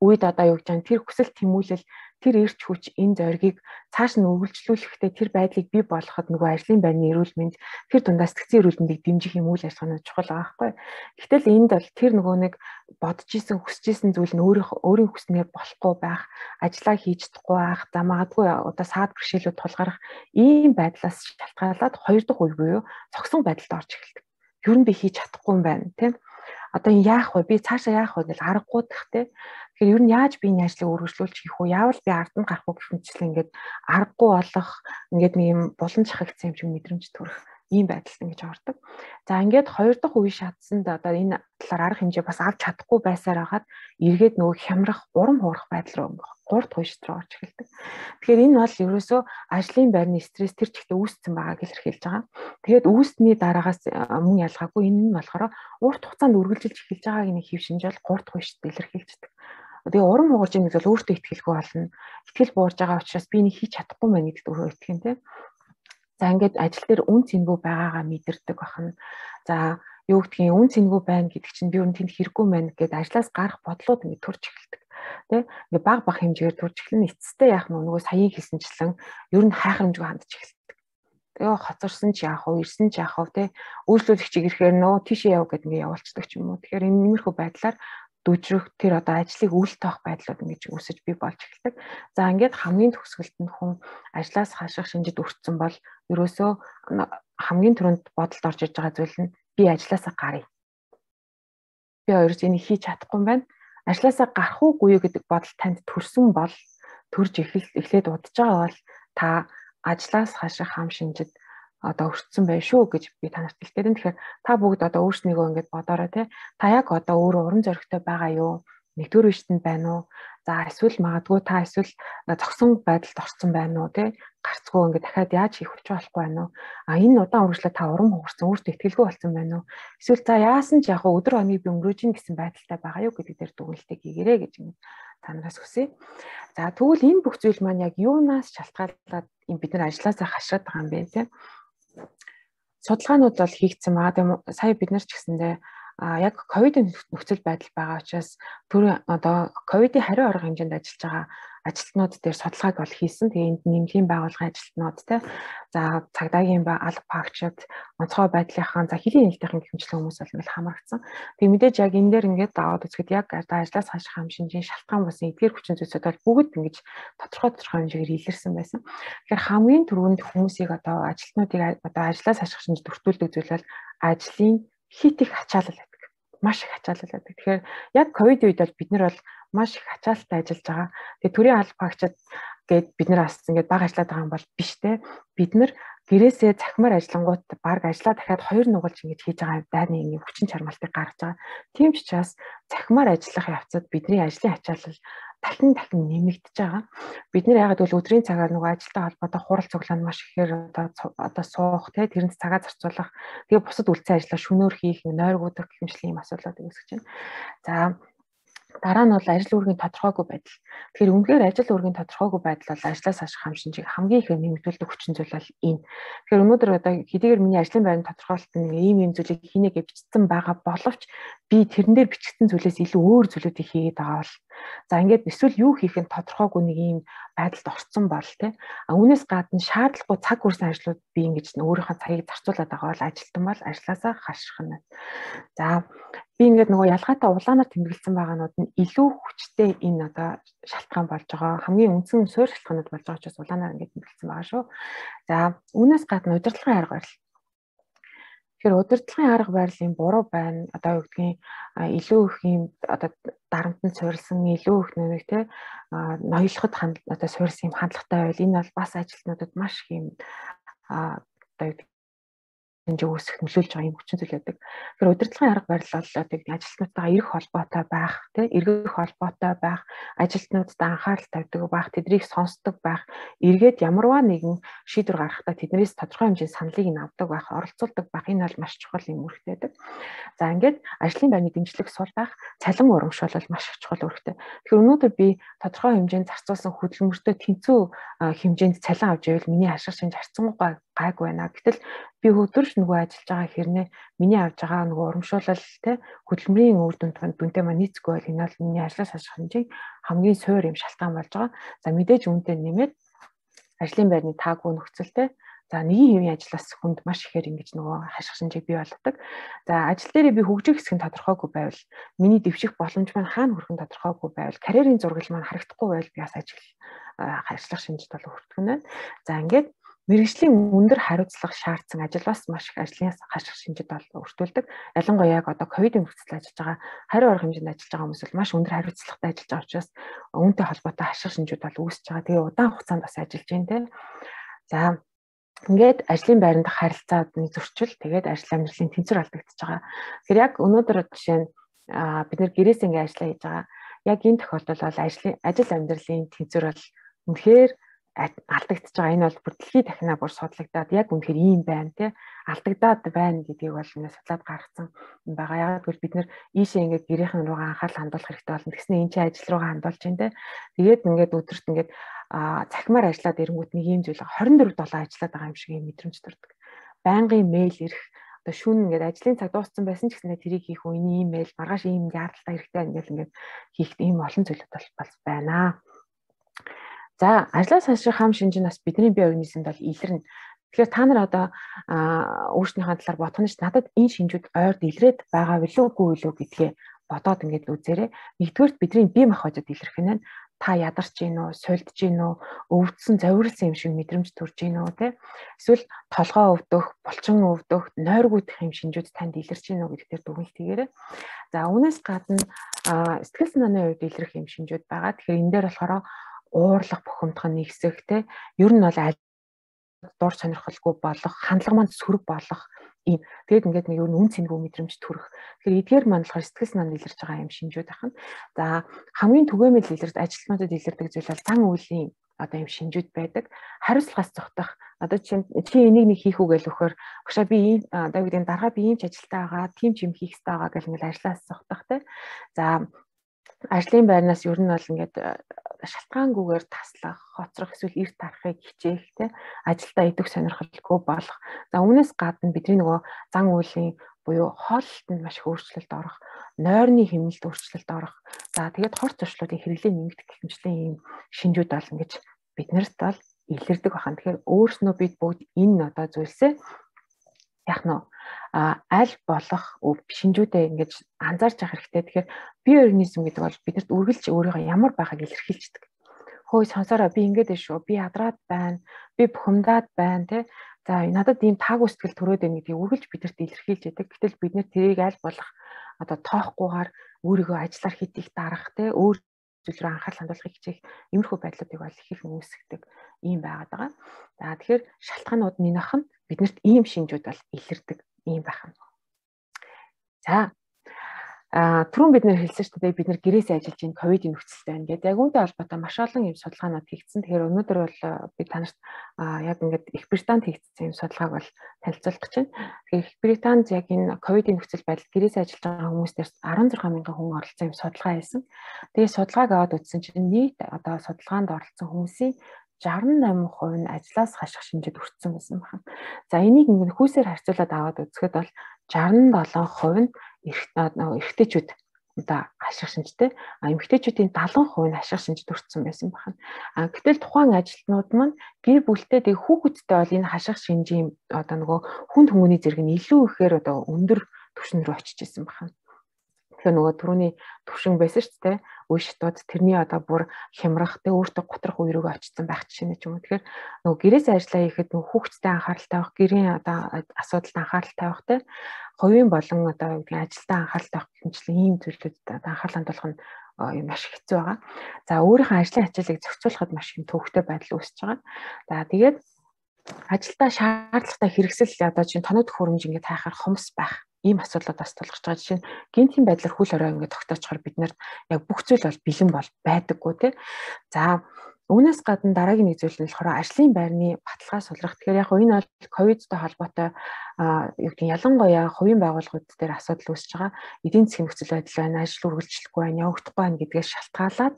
үед одоо юу гэж байна? Тэр хүсэл тэмүүлэл, тэр эрч хүч энэ зоригийг цааш нь үргэлжлүүлэхдээ тэр байдлыг бий болгоход нөгөө ажлын байрны эрүүл мэнд, тэр дундаа сэтгцэн эрүүл мэндийг дэмжих юм үйл ажиллагааны чухал байгаа байхгүй. Гэтэл энд бол тэр нөгөө нэг бодож исэн, хүсэж исэн зүйл нь өөрийн хүснээр болохгүй байх, ажиллаа хийж чадахгүй байх, за магадгүй одоо саад бэрхшээлүүд тулгарах ийм байдлаас шалтгаалаад хоёр дахь үе буюу цогсон байдалд орж эхэлдэг. Юу нь би хийж чадахгүй юм байна, тийм. Одоо яах вэ? Би цаашаа яах вэ гэж аргагүй тахтэй. Тэгэхээр ер нь яаж би энэ ажлыг үргэлжлүүлж хийх вэ? Яавал би арданд гарах вэ гэх мэтчлэн ингээд аргагүй болох ингээд нэг юм булан чахагдсан юм шиг мэдрэмж төрөх ийм байдалд ингэж ордог. За ингээд хоёр дахь үе шатсанд одоо энэ талаар арга хэмжээ бас авч чадахгүй байсаар хагаад эргээд нөгөө хямрах, урам хуурах байдал руу гурав дахь үе рүү орж эхэлдэг. Тэгэхээр энэ бол ерөөсөө ажлын байрны стресс тэр чигтээ үүссэн байгааг илэрхийлж байгаа. Тэгээд үүсний дараагаас мөн ялгаагүй энэ нь болохоор урт хугацаанд үргэлжилж эхэлж байгааг нэг хэв шинж бол гурав дахь үе илэрхийлждэг. Тэгээ урам хугарч байгаа гэж бол өөртөө итгэлгүй болно. Итгэл буурж байгаа учраас би энийг хийж чадахгүй мэн гэдэгт өөрөө итгэн тийм. За ингээд ажил дээр үн цэнгүй байгаагаа мэдэрдэг бахна. За юу гэдгийг үн цэнгүй байна гэдэг чинь би өөр тэнд хэрэггүй мэн гэдээ ажлаас гарах бодлууд ингээд төрж эхэлдэг. Тэ ингээд баг хэмжээгээр төрж эхлэн эцэстээ яах нь нөгөө саяын хэлсэнчлэн ер нь хайхрамжгүй хандж эхэлдэг. Тэгээ хоцорсон ч яах вэ, ирсэн ч яах вэ, тэ үйлчлүүлэгчийг ирэхээр нөө тийшээ яв гэдэг ингээд явуулцдаг ч юм уу. Тэгэхээр энэ иймэрхүү байдлаар дүжрэх тэр одоо ажлыг үл тоох байдлууд ингэж үүсэж бий болж эхэлдэг. За ингээд хамгийн төгсгөлд нь хүн ажлаас хаших шинжид өртсөн бол ерөөсөө хамгийн түрүүнд бодолд орж иж байгаа зүйл нь би ажлаасаа гарыг. Би өөрөө энийг хийж чадахгүй юм байна. Ажлаасаа гарах уугүй гэдэг бодол танд төрсөн бол төрж эхлээд удаж байгаа бол та ажлаас хаших хам шинжид одоо өртсөн байх шүү гэж би танарт хэлдэг. Тэгэхээр та бүгд одоо өөрснийгөө ингэж бодоорой тий. Та яг одоо өөрөө уран зоригтой байгаа юу? Нэгдүгээр үеийнтэнд байна уу? За эсвэл магадгүй та эсвэл зогсон байдалд орсон байна уу тий? Гарцгүй ингэ дахиад яаж хийх вэ болохгүй байна уу? А энэ удаан үргэлжлээ та урам хугарсан, өөртөө итгэлгүй болсон байна уу? Эсвэл за яасан ч яг өдөр хоногийг би өнгөрөөж ийн гэсэн байдалтай байгаа юу гэдэг дээр дүгнэлтийг хийгээрэй гэж ингэ танараас хүсье. За тэгвэл энэ бүх зүйл маань яг юунаас шалтгаалаад бид нар ажлаасаа хашаад байгаа юм бэ тий? Судалгаанууд бол хийгдсэн байгаа. Сая бид нар ч гэсэндээ яг ковидын нөхцөл байдал байгаа учраас түрүү одоо ковидын хариу арга хэмжээнд ажиллаж байгаа ажилтнууд дээр судалгааг бол хийсэн. Тэгээ энд нэмлийн байгууллагын ажилтнууд те за цагдаагийн алба багчид онцгой байдлынхаа за хэлийн хэлтийн хэмжлэг хүмүүс бол ингээл хамрагдсан. Тэгээ мэдээж яг энэ дээр ингээд даваад үзэхэд яг ажлаас хаших хам шинжийн шалтгаан болсон эдгээр хүчин зүйлсүүд бол бүгд ингэж тодорхой хэмжээгээр илэрсэн байсан. Тэгэхээр хамгийн түрүүнд хүмүүсийг одоо ажилтнуудыг одоо ажлаас хаших шинжид өртүүлдэг зүйл бол ажлын хит их ачаалал байдаг. Маш их ачаалал байдаг. Тэгэхээр яг ковид үед бол бид нар бол маш их ачаалттай ажиллаж байгаа. Тэгээ төрийн алба багчид гээд бид нар бас ингээд баг ажиллаад байгаа юм бол биш те. Бид нар гэрээсээ цахимаар ажиллангууд баг ажиллаа дахиад хоёр нугалж ингэж хийж байгаа дайны нэг хүчин чармаалтыг гаргаж байгаа. Тийм ч учраас цахимаар ажиллах явцад бидний ажлын ачаалал дахин нэмэгдэж байгаа. Бид нэр ягаад гэвэл өдрийн цагаар нөгөө ажилтай холбоотой хурал цуглаанд маш ихээр одоо суух те тэрэнд цагаа зарцуулах тэгээ бусад үлцэн ажлаа шөнөөр хийх нойргуудах гэх мэт ийм асуудлууд үүсгэж байна. За дараа нь бол ажил үүргийн тодорхойгүй байдал. Тэгэхээр үнэхээр ажил үүргийн тодорхойгүй байдал бол ажлаас хаших хам шинжийг хамгийн их нэмэгдүүлдэг хүчин зүйл бол энэ. Тэгэхээр өнөөдөр одоо хэдийгээр миний ажлын байрны тодорхойлолт нь ийм зүйлийг хийнэ гэж бичсэн байгаа боловч би тэрэн дээр бичигдсэн зүйлээс илүү өөр зүйлүүдийг хийгээд байгаа бол за ингээд эсвэл юу хийх нь тодорхойгүй нэг ийм байдалд орсон бол тий. Үүнээс гадна шаардлагагүй цаг хүрсэн ажлууд би ингэж өөрийнхөө цагийг зарцуулаад байгаа бол ажилтан бол ажлаасаа хаших нь. За би ингээд нөгөө ялгаатай улаанаар тэмдэглэсэн байгаанууд нь илүү хүчтэй энэ одоо шалтгаан болж байгаа. Хамгийн үндсэн суурь шалтгаанууд болж байгаа учраас улаанаар ингээд тэмдэглэсэн байгаа шүү. За үүнээс гадна удирдлагын арга барил. Тэгэхээр удирдлагын арга барилын буруу байна. Одоо юу гэдгийг илүү их юм одоо дарамтанд суурилсан илүү их нэг те ноёлоход одоо суурилсан юм хандлагатай байл. Энэ бол бас ажилтнуудад маш их юм одоо хэмжээ үүсгэх нөлөөлж байгаа юм хүчин зүйл байдаг. Тэгэхээр удирдлагын арга барил бол одоо ажилтнуудаа эрэх холбоотой байх, эргэх холбоотой байх, ажилтнуудад анхаарал тавьдаг байх, тэднийг сонсдог байх, эргээд ямарваа нэгэн шийдвэр гаргахдаа тэднээс тодорхой хэмжээний саналыг нь авдаг байх, оролцуулдаг байх, энэ бол маш чухал юм үүрэгтэй байдаг. За ингээд ажлын байрны дэмжлэг сул байх, цалин урамшуул маш их чухал үүрэгтэй. Тэгэхээр өнөөдөр би тодорхой хэмжээнд зарцуулсан хөдөлмөртөө тэнцүү хэмжээнд цалин авч ивэл миний ашиг шинж харьцангуй гайгүй байна. Гэтэл би өдөрч нөгөө ажиллаж байгаа хэрнээ миний авж байгаа нөгөө урамшуулал хөдөлмөрийн үр дүнтэй маань нийцэхгүй бол энэ бол миний ажлаас ашиг хэмжээг хамгийн суур юм шалтгаан болж байгаа. За мэдээж үүнтэй нэмээд ажлын байрны таагүй нөхцөлтэй за нэгэн хэвийн ажлаас хүнд маш ихээр ингэж нөгөө хаших шинжийг бий болгодог. За ажил дээрээ би хөгжих хэсэг нь тодорхойгүй байвал миний дэвших боломж маань хаана хүрэх нь тодорхойгүй байвал карьерийн зургал маань харагдахгүй байвал би бас ажиллах шинжид бол хүртэх нь байна. За ингээд мэргэжлийн өндөр хариуцлага шаардсан ажил бас маш их ажлын хаших шинжид бол өртүүлдэг. Ялангуяа яг одоо ковидын нөхцөлд ажиллаж байгаа хариу арга хэмжээнд ажиллаж байгаа хүмүүс бол маш өндөр хариуцлагатай ажиллаж байгаа учраас үүнтэй холбоотой хаших шинжүүд бол үүсэж байгаа. Тэгээ удаан хугацаанд бас ажиллаж байна те. За ингээд ажлын байранд харилцааны зөрчил тэгээд ажил амьдралын тэнцвэр алдагдчихж байгаа. Тэгэхээр яг өнөөдөр жишээ нь бид нэр гэрээс ингээд ажиллаа хийж байгаа. Яг энэ тохиолдолд бол ажил амьдралын тэнцвэр бол үнэхээр алдагдчихж байгаа. Энэ бол бүр дэлхийд дахинаа бүр судлагдаад яг үнэхээр ийм байна те алдагдаад байна гэдгийг бол ингээд судлаад гаргасан юм байгаа. Яг гэвэл бид нэр ийшээ ингээд гэрийнхэн руугаа анхаарал хандуулах хэрэгтэй болно. Тэгснэ энэ чинь ажил руугаа хандуулж байна те. Тэгээд ингээд өдөрт ингээд цахимаар ажиллаад ирэнгүүт нэг юм зүйл 24/7 ажиллаад байгаа юм шиг юм мэдрэмж төрдөг. Байнгын мэйл ирэх одоо шүүн ингээд ажлын цаг дууссан байсан ч гэсэн тэрийг хийх үеийн имэйл маргааш ийм яаралтай хэрэгтэй ингээд хийх ийм олон зүйлүүд бол байна. За ажлаас хаших хам шинж нь бас бидний бие организмд бол илэрнэ. Тэгэхээр та нар одоо өөрснийхээ талаар бодох нь надад энэ шинжүүд ойрд илрээд байгаа билүүгүй гэдгээ бодоод ингээд үзээрэй. Нэгдүгээр бидний бие махбодод илэрх нь та ядарч гин үү, сулдж гин үү, өвдсөн, завирлсан юм шиг мэдрэмж төрж гин үү те. Эсвэл толгоо өвдөх, булчин өвдөх, нойргуудах юм шинжүүд танд илэрч гин үү гэдгээр дүгнэлт хийгээрэй. За үүнээс гадна сэтгэл санааны үед илэрх юм шинжүүд байгаа. Тэгэхээр энэ дээр болохоор уурлах, бухимдах нэгсэх те. Ер нь бол дур сонирхолгүй болох, хандлага манд сөрөг болох ийм. Тэгээд ингээд нэг үн цэнгүй мэдрэмж төрөх. Тэгэхээр эдгээр маань болохоор сэтгэл санаанд илэрч байгаа юм шинжүүд ахна. За хамгийн түгээмэл илэрч ажилтнуудад илэрдэг зүйл бол зан үйлийн одоо юм шинжүүд байдаг. Хариуцлагаас зогтох. Одоо чи энийг нэг хийх үү гэж өгөхөөр багшаа би одоо гэдэг дарга би ийм ч ажилтаа байгаа, тийм ч юм хийх хэрэгтэй байгаа гэл ингээд ажлаас зогтох те. За ажлын байрнаас ер нь бол ингээд шалтгаангүйгээр таслах, хоцрох эсвэл эрт тарахыг хичээх те ажилдаа идэх сонирхолгүй болох. За үүнээс гадна бидний нөгөө зан үйлийн буюу хооллолтод маш их өөрчлөлт орох, нойрны хэмнэлд өөрчлөлт орох. За тэгээд хор зуршлуудын хэрэглээ нэмэгдэх гэх мэтлийн ийм шинжүүд бол ингэж биднэрт бол илэрдэг бахан. Тэгэхээр өөрснөө бид бүгд энэ одоо зүйлсээ яг нь аль болох шинжүүдээ ингэж анзаарч явах хэрэгтэй. Тэгэхээр бие организм гэдэг бол бидэрт үргэлж өөрийгөө ямар байгааг илэрхийлждэг. Хөөе сонсороо би ингэж байна шүү. Би ядраад байна. Би бухимдаад байна те. За надад ийм таагүй сэтгэл төрөөд байна гэдгийг үргэлж бидэрт илэрхийлж яадаг. Гэтэл бид нэр тэрийг аль болох одоо тоохгүйгээр өөрийгөө ажиллаар хит их дарах те өөр зүйл рүү анхаарал хандуулахыг хичээх иймэрхүү байдлуудыг бол их их үүсгдэг ийм байгаад байгаа. За тэгэхээр шалтгаанууд минийх нь биднэрт ийм шинжүүд бол илэрдэг ийм байна. За түрүүн бид нэр хэлсэн шүү дээ бид нэр гэрээсээ ажиллаж ин ковидын нөхцөлтэй байна гэдэг. Яг үүнтэй холбоотой маш олон юм судалгаанууд хийгдсэн. Тэгэхээр өнөөдөр бол би танарт яг ингээд Их Британд хийгдсэн юм судалгааг бол танилцуулах гэж байна. Тэгэхээр Их Британд яг энэ ковидын нөхцөл байдал гэрээсээ ажиллаж байгаа хүмүүстээс 16,000 хүн оролцсон юм судалгаа хийсэн. Тэгээд судалгааг аваад үзсэн чинь нийт одоо судалгаанд оролцсон хүмүүсийн 68% нь ажлаас хаших шинжид өртсөн байсан байна. За энийг ингээд хүүсээр харьцуулаад аваад үзэхэд бол 67% нь эрэгтэйчүүд одоо хаших шинжтэй, эмэгтэйчүүдийн 70% нь хаших шинжид өртсөн байсан байна. Гэтэл тухайн ажилтнууд маань гэр бүлтэй тэг хүүхэдтэй бол энэ хаших шинжийн одоо нөгөө хүнд хүмүүний зэрэг нь илүү ихээр одоо өндөр түвшин рүү очиж исэн байна. Тэгэхээр нөгөө түрүүний төвшин байсан шүү дээ. Үе шатууд тэрний одоо бүр хямрах, тэг өөртөө готрох үе рүүгээ очсон байх жишээ ч юм уу. Тэгэхээр нөгөө гэрээсээ ажиллаа хийхэд нөгөө хүүхдтэй анхаарал тавих, гэрийн одоо асуудалд анхаарал тавих те хувийн болон одоо ажилдаа анхаарал тавих хэмжлэн ийм зүйлүүдэд анхаарал хандуулах нь маш хэцүү байгаа. За өөрийнхөө ажлын ачааллыг зохицуулахад маш их төвөгтэй байдал үүсэж байгаа. За тэгээд ажилдаа шаардлагатай хэрэгсэл одоо чинь тоног төхөөрөмж ингээд хайхаар хомс байх ийм асуудлууд бас тулгарч байгаа. Жишээ нь гинтийн байдлаар хүл орой ингээд тогтоочхоор бид нарт яг бүх зүйл бол бэлэн бол байдаггүй тий. За үүнээс гадна дараагийн нэг зүйл нь болохоор ажлын байрны баталгаа сулрах. Тэгэхээр яг энэ бол ковидтой холбоотой юу гэдэг нь ялангуяа хувийн байгууллагууд дээр асуудал үүсэж байгаа. Эдийн засгийн нөхцөл байдал байна, ажил үргэлжлэхгүй байна, явагдахгүй байна гэдгээс шалтгаалаад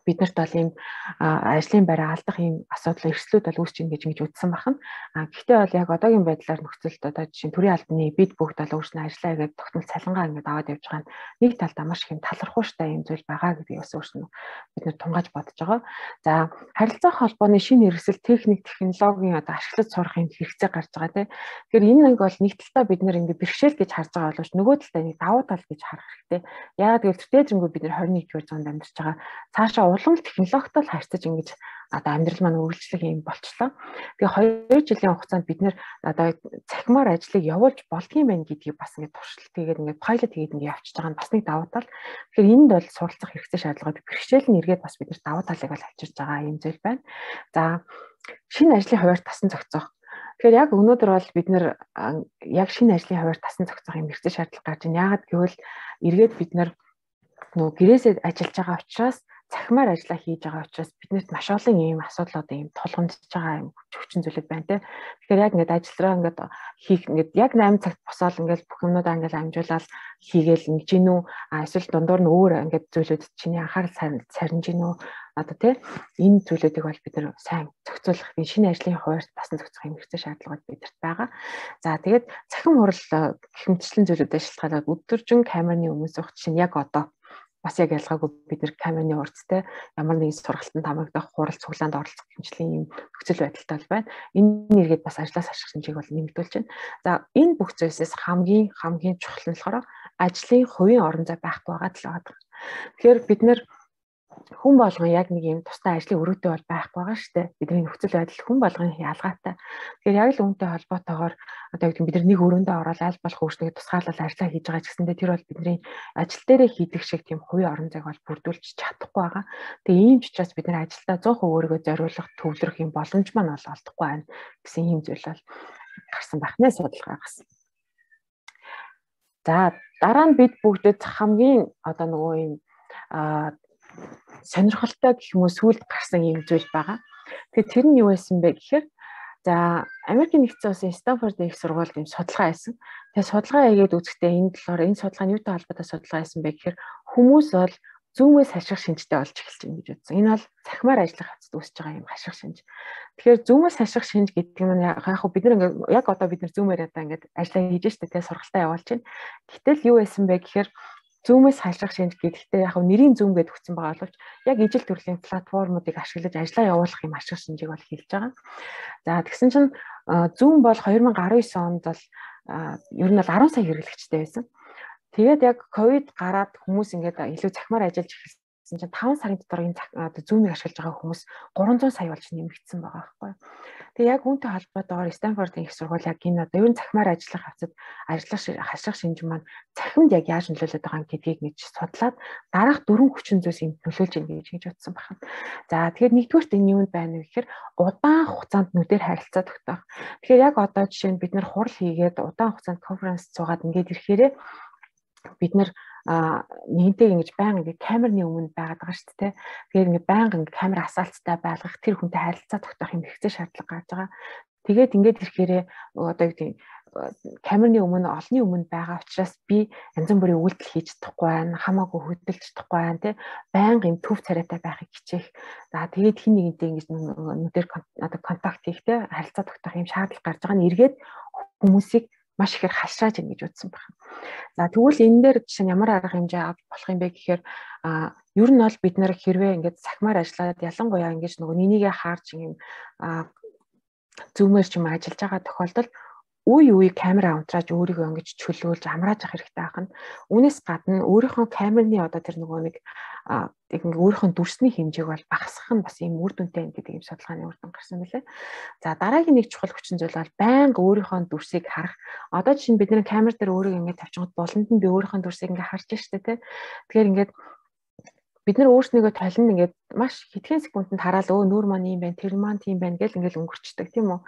биднэрт бол ийм ажлын байраа алдах ийм асуудал эрсдлүүд бол үүсэж ийн гэж үзсэн байна. Гэхдээ бол яг одоогийн байдлаар нөхцөлд одоо жишээ нь төрийн албаны бид бүгд бол өөрснөө ажиллаа гэдэг тогтмол цалингаа ингээд аваад явж байгаа нь нэг талдаа маш их юм талархууштай юм зүйл байгаа гэдгийг бас өөрснөө бид нэр тунгааж бодож байгаа. За харилцаа холбооны шинэ хэрэгсэл техник технологийн одоо ашиглаж сурах юм хэрэгцээ гарч байгаа тийм. Тэгэхээр энэ нэг бол нэг талдаа бид нэр ингээд бэрхшээл гэж харж байгаа боловч нөгөө талдаа нэг давуу тал гэж харах хэрэгтэй. Яагаад гэвэл төдийлөнгөө бид нэр 21-р зуунд амьдарч байгаа. Цаашаа улам технологитой харьцаж ингэж одоо амьдрал маань үргэлжлэх юм болчлоо. Тэгээ 2 жилийн хугацаанд бид нэр одоо цахимаар ажлыг явуулж болдгийм байх гэдгийг бас ингэ туршилт хийгээд ингэ пайлот хийгээд ингэ явчихж байгаа нь бас нэг давуу тал. Тэгэхээр энд бол суралцах хэрэгцээ шаардлагатай бэрхшээл нь эргээд бас бид нар давуу талыг бол авчирж байгаа юм зүйл байна. За шинэ ажлын хуваарь тасан зохицох. Тэгэхээр яг өнөөдөр бол бид нэр яг шинэ ажлын хуваарь тасан зохицох юм хэрэгцээ шаардлага гарч байна. Яагаад гэвэл эргээд бид нар нөгөө гэрээсээ ажиллаж байгаа учраас цахимаар ажиллаа хийж байгаа учраас биднэрт маш олон ийм асуудлууд ийм тулгамдж байгаа юм хүчин зүйлүүд байна те. Тэгэхээр яг ингээд ажиллараа ингээд хийх ингээд яг 8 цагт босоод ингээд бүх юмнуудаа ингээд амжуулаад хийгээл ингэж гинүү эсвэл дундуур нь өөр ингээд зүйлүүд чиний анхаарал сарниж гинүү одоо те энэ зүйлүүдийг бол бид нар сайн зохицуулах энэ шинэ ажлын хуваарь тасан зохицох юм хэрэгтэй шаардлагууд бидэрт байгаа. За тэгээд цахим хурал хэмжлэн зүйлүүдэд шалтгаалаад өдөржин камерны өмнө суух чинь яг одоо бас яг ялгаагүй бид нэр камерны урдтай ямар нэгэн сургалтанд хамрагдах хурал цуглаанд оролцох хэмжээний юм нөхцөл байдалтай байна. Энэ нэргээд бас ажлаас ашиглах хэмжээг бол нэмэгдүүлж байна. За энэ бүх зүйлсээс хамгийн чухал нь болохоор ажлын хувийн орон зай байхгүй байгаа л байгаа. Тэгэхээр бид нэр хүн болгон яг нэг юм тусдаа ажлын өрөөтэй бол байхгүй байгаа шүү дээ. Бидний нөхцөл байдал хүн болгон ялгаатай. Тэгэхээр яг л үүнтэй холбоотойгоор одоо яг бид нар нэг өрөөндөө ороод аль болох өөрсдөө тусгаарлал ажиллаа хийж байгаа ч гэсэндээ тэр бол бидний ажил дээрээ хийдэг шиг тийм хувийн орон зайг бол бүрдүүлж чадахгүй байгаа. Тэгээ ийм ч учраас бид нар ажилдаа 100% өөрийгөө зориулах төвлөрөх юм боломж маань бол олдохгүй байна гэсэн ийм зүйл бол гарсан байна судалгаагаас. За дараа нь бид бүгдэд хамгийн одоо нөгөө юм сонирхолтой гэх юм уу сүүлд гарсан юм зүйл байгаа. Тэгэхээр тэр нь юу байсан бэ гэхээр за Америкийн нэгдсэн улсын Стэнфорд их сургуульд юм судалгаа хийсэн. Тэгээ судалгаа хийгээд үзэхдээ энэ талаар энэ судалгаа нь юутай холбоотой судалгаа хийсэн бэ гэхээр хүмүүс бол зүүмээс хаших шинжтэй болж эхэлж байна гэж үзсэн. Энэ бол цахимаар ажиллах хавцад үүсэж байгаа юм хаших шинж. Тэгэхээр зүүмээс хаших шинж гэдэг нь яг бид нар ингээд яг одоо бид нар зүүмээр одоо ингээд ажиллаа хийж штэ тэгээ сургалтаа явуулж байна. Гэтэл юу байсан бэ гэхээр зүүмээс хаших шинж гэдэгтээ яг нэрийн зүүм гэдээ өгсөн байгаа боловч яг ижил төрлийн платформуудыг ашиглаж ажиллаа явуулах юм ашиг шинжийг бол хэлж байгаа. За тэгсэн чинь зүүм бол 2019 онд бол ер нь бол 10 сая хэрэглэгчтэй байсан. Тэгээд яг ковид гараад хүмүүс ингээд илүү цахимаар ажиллаж эхэлсэн чинь 5 сарын дотор энэ зүүмийг ашиглаж байгаа хүмүүс 300 сая болж нэмэгдсэн байгаа байхгүй. Тэгээ яг үүнтэй холбоотойгоор Стэнфордын их сургууль яг энэ одоо ер нь цахимаар ажиллах хавцад хаших шинж маань цахимд яг яаж нөлөөлөд байгаа юм гэдгийг нэг судлаад дараах 4 хүчин зүйлс юм нөлөөлж ийн гэж утсан байна. За тэгэхээр нэгдүгээрт энэ юунд байна вэ гэхээр удаан хугацаанд нүдээр харилцаа тогтоох. Тэгэхээр яг одоо жишээ нь бид нэр хурал хийгээд удаан хугацаанд конференц цугаад ингээд ирэхээрээ бид нэр нэгэнтэйг ингэж байнга ингэ камерны өмнө байгаад байгаа шүү дээ. Тэгэхээр ингэ байнга ингэ камер асаалттай байлгах тэр хүнтэй харилцаа тогтоох юм хэрэгцээ шаардлага гарч байгаа. Тэгээд ингэж ирэхээрээ одоо юу гэдэг камерны өмнө олонний өмнө байгаа учраас би янз бүрийн үйлдэл хийж чадахгүй байна, хамаагүй хөдөлж чадахгүй байна тий. Байнга юм төв царайтай байхыг хичээх. За тэгээд хин нэгэнтэй ингэж нүдээр одоо контакт хийх тий харилцаа тогтоох юм шаардлага гарч байгаа нь эргээд хүмүүсийг маш ихээр хашрааж ийн гэж үзсэн байна. За тэгвэл энэ дээр жишээ нь ямар арга хэмжээ авч болох юм бэ гэхээр ер нь бол бид нэр хэрвээ ингээд цахимаар ажиллаад ялангуяа ингэж нөгөө нeenийгээ хаарч юм зүүмээр ч юм ажиллаж байгаа тохиолдолд үе камера унтрааж өөрийгөө ингэж чөлөөлж амрааж авах хэрэгтэй байх нь. Үүнээс гадна өөрийнхөө камерны одоо тэр нөгөө нэг өөрийнхөө дүрсний хэмжээг бол багасгах нь бас ийм үр дүнтэй гэдэг юм судалгааны үр дүн гарсан мөлий. За дараагийн нэг чухал хүчин зүйл бол байнга өөрийнхөө дүрсийг харах. Одоо жишээ нь бидний камер дээр өөрийгөө ингэж тавьчиход болонд нь би өөрийнхөө дүрсийг ингэ харж штэ тий. Тэгэхээр ингэж бид нар өөрснийгөө толино ингээд маш хэдхэн секундэд хараал нүүр маань юм байна, тэр маань тийм байна гэл ингээд өнгөрчдөг тийм үү.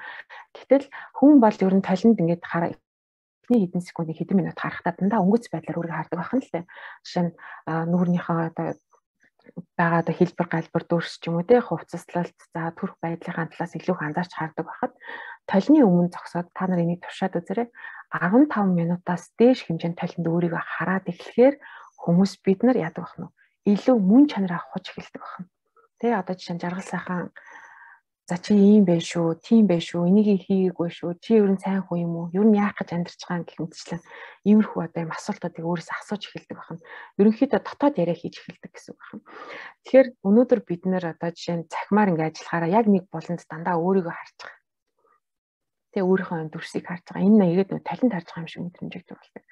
Гэтэл хүн бол ер нь толинд ингээд эхний хэдэн секундын хэдэн минут харахтаа дандаа өнгөц байдлаар өөрийгөө хардаг байх нь л дээ. Жишээ нь нүүрнийхээ одоо байгаа одоо хэлбэр галбар дүүрс ч юм уу те хувцаслалт за төрх байдлынхаа талаас илүү их анзаарч хардаг байхад толины өмнө зогсоод та нар энийг туршаад үзээрэй 15 минутаас дээш хэмжээнд толинд өөрийгөө хараад эхлэхээр хүмүүс бид нар яадаг бах нь илүү мөн чанараа авах эхэлдэг байна. Тэ одоо жишээ нь жаргал сайхан за чи ийм байх шүү, тийм байх шүү, энийг хийгээгүй шүү, чи ер нь сайн хүн юм уу? Ер нь яах гэж амьдарч байгаа гэх мэтчлэн иймэрхүү одоо юм асуултуудыг өөрөөсөө асууж эхэлдэг байна. Ерөнхийдөө дотоод яриа хийж эхэлдэг гэсэн үг байна. Тэгэхээр өнөөдөр бид нэр одоо жишээ нь цахимаар ингээ ажиллахаараа яг нэг болонд дандаа өөрийгөө харж байгаа. Тэ өөрийнхөө дүрсийг харж байгаа. Энэ нэгэд нөө талент харж байгаа юм шиг мэдрэмжийг төрүүлдэг.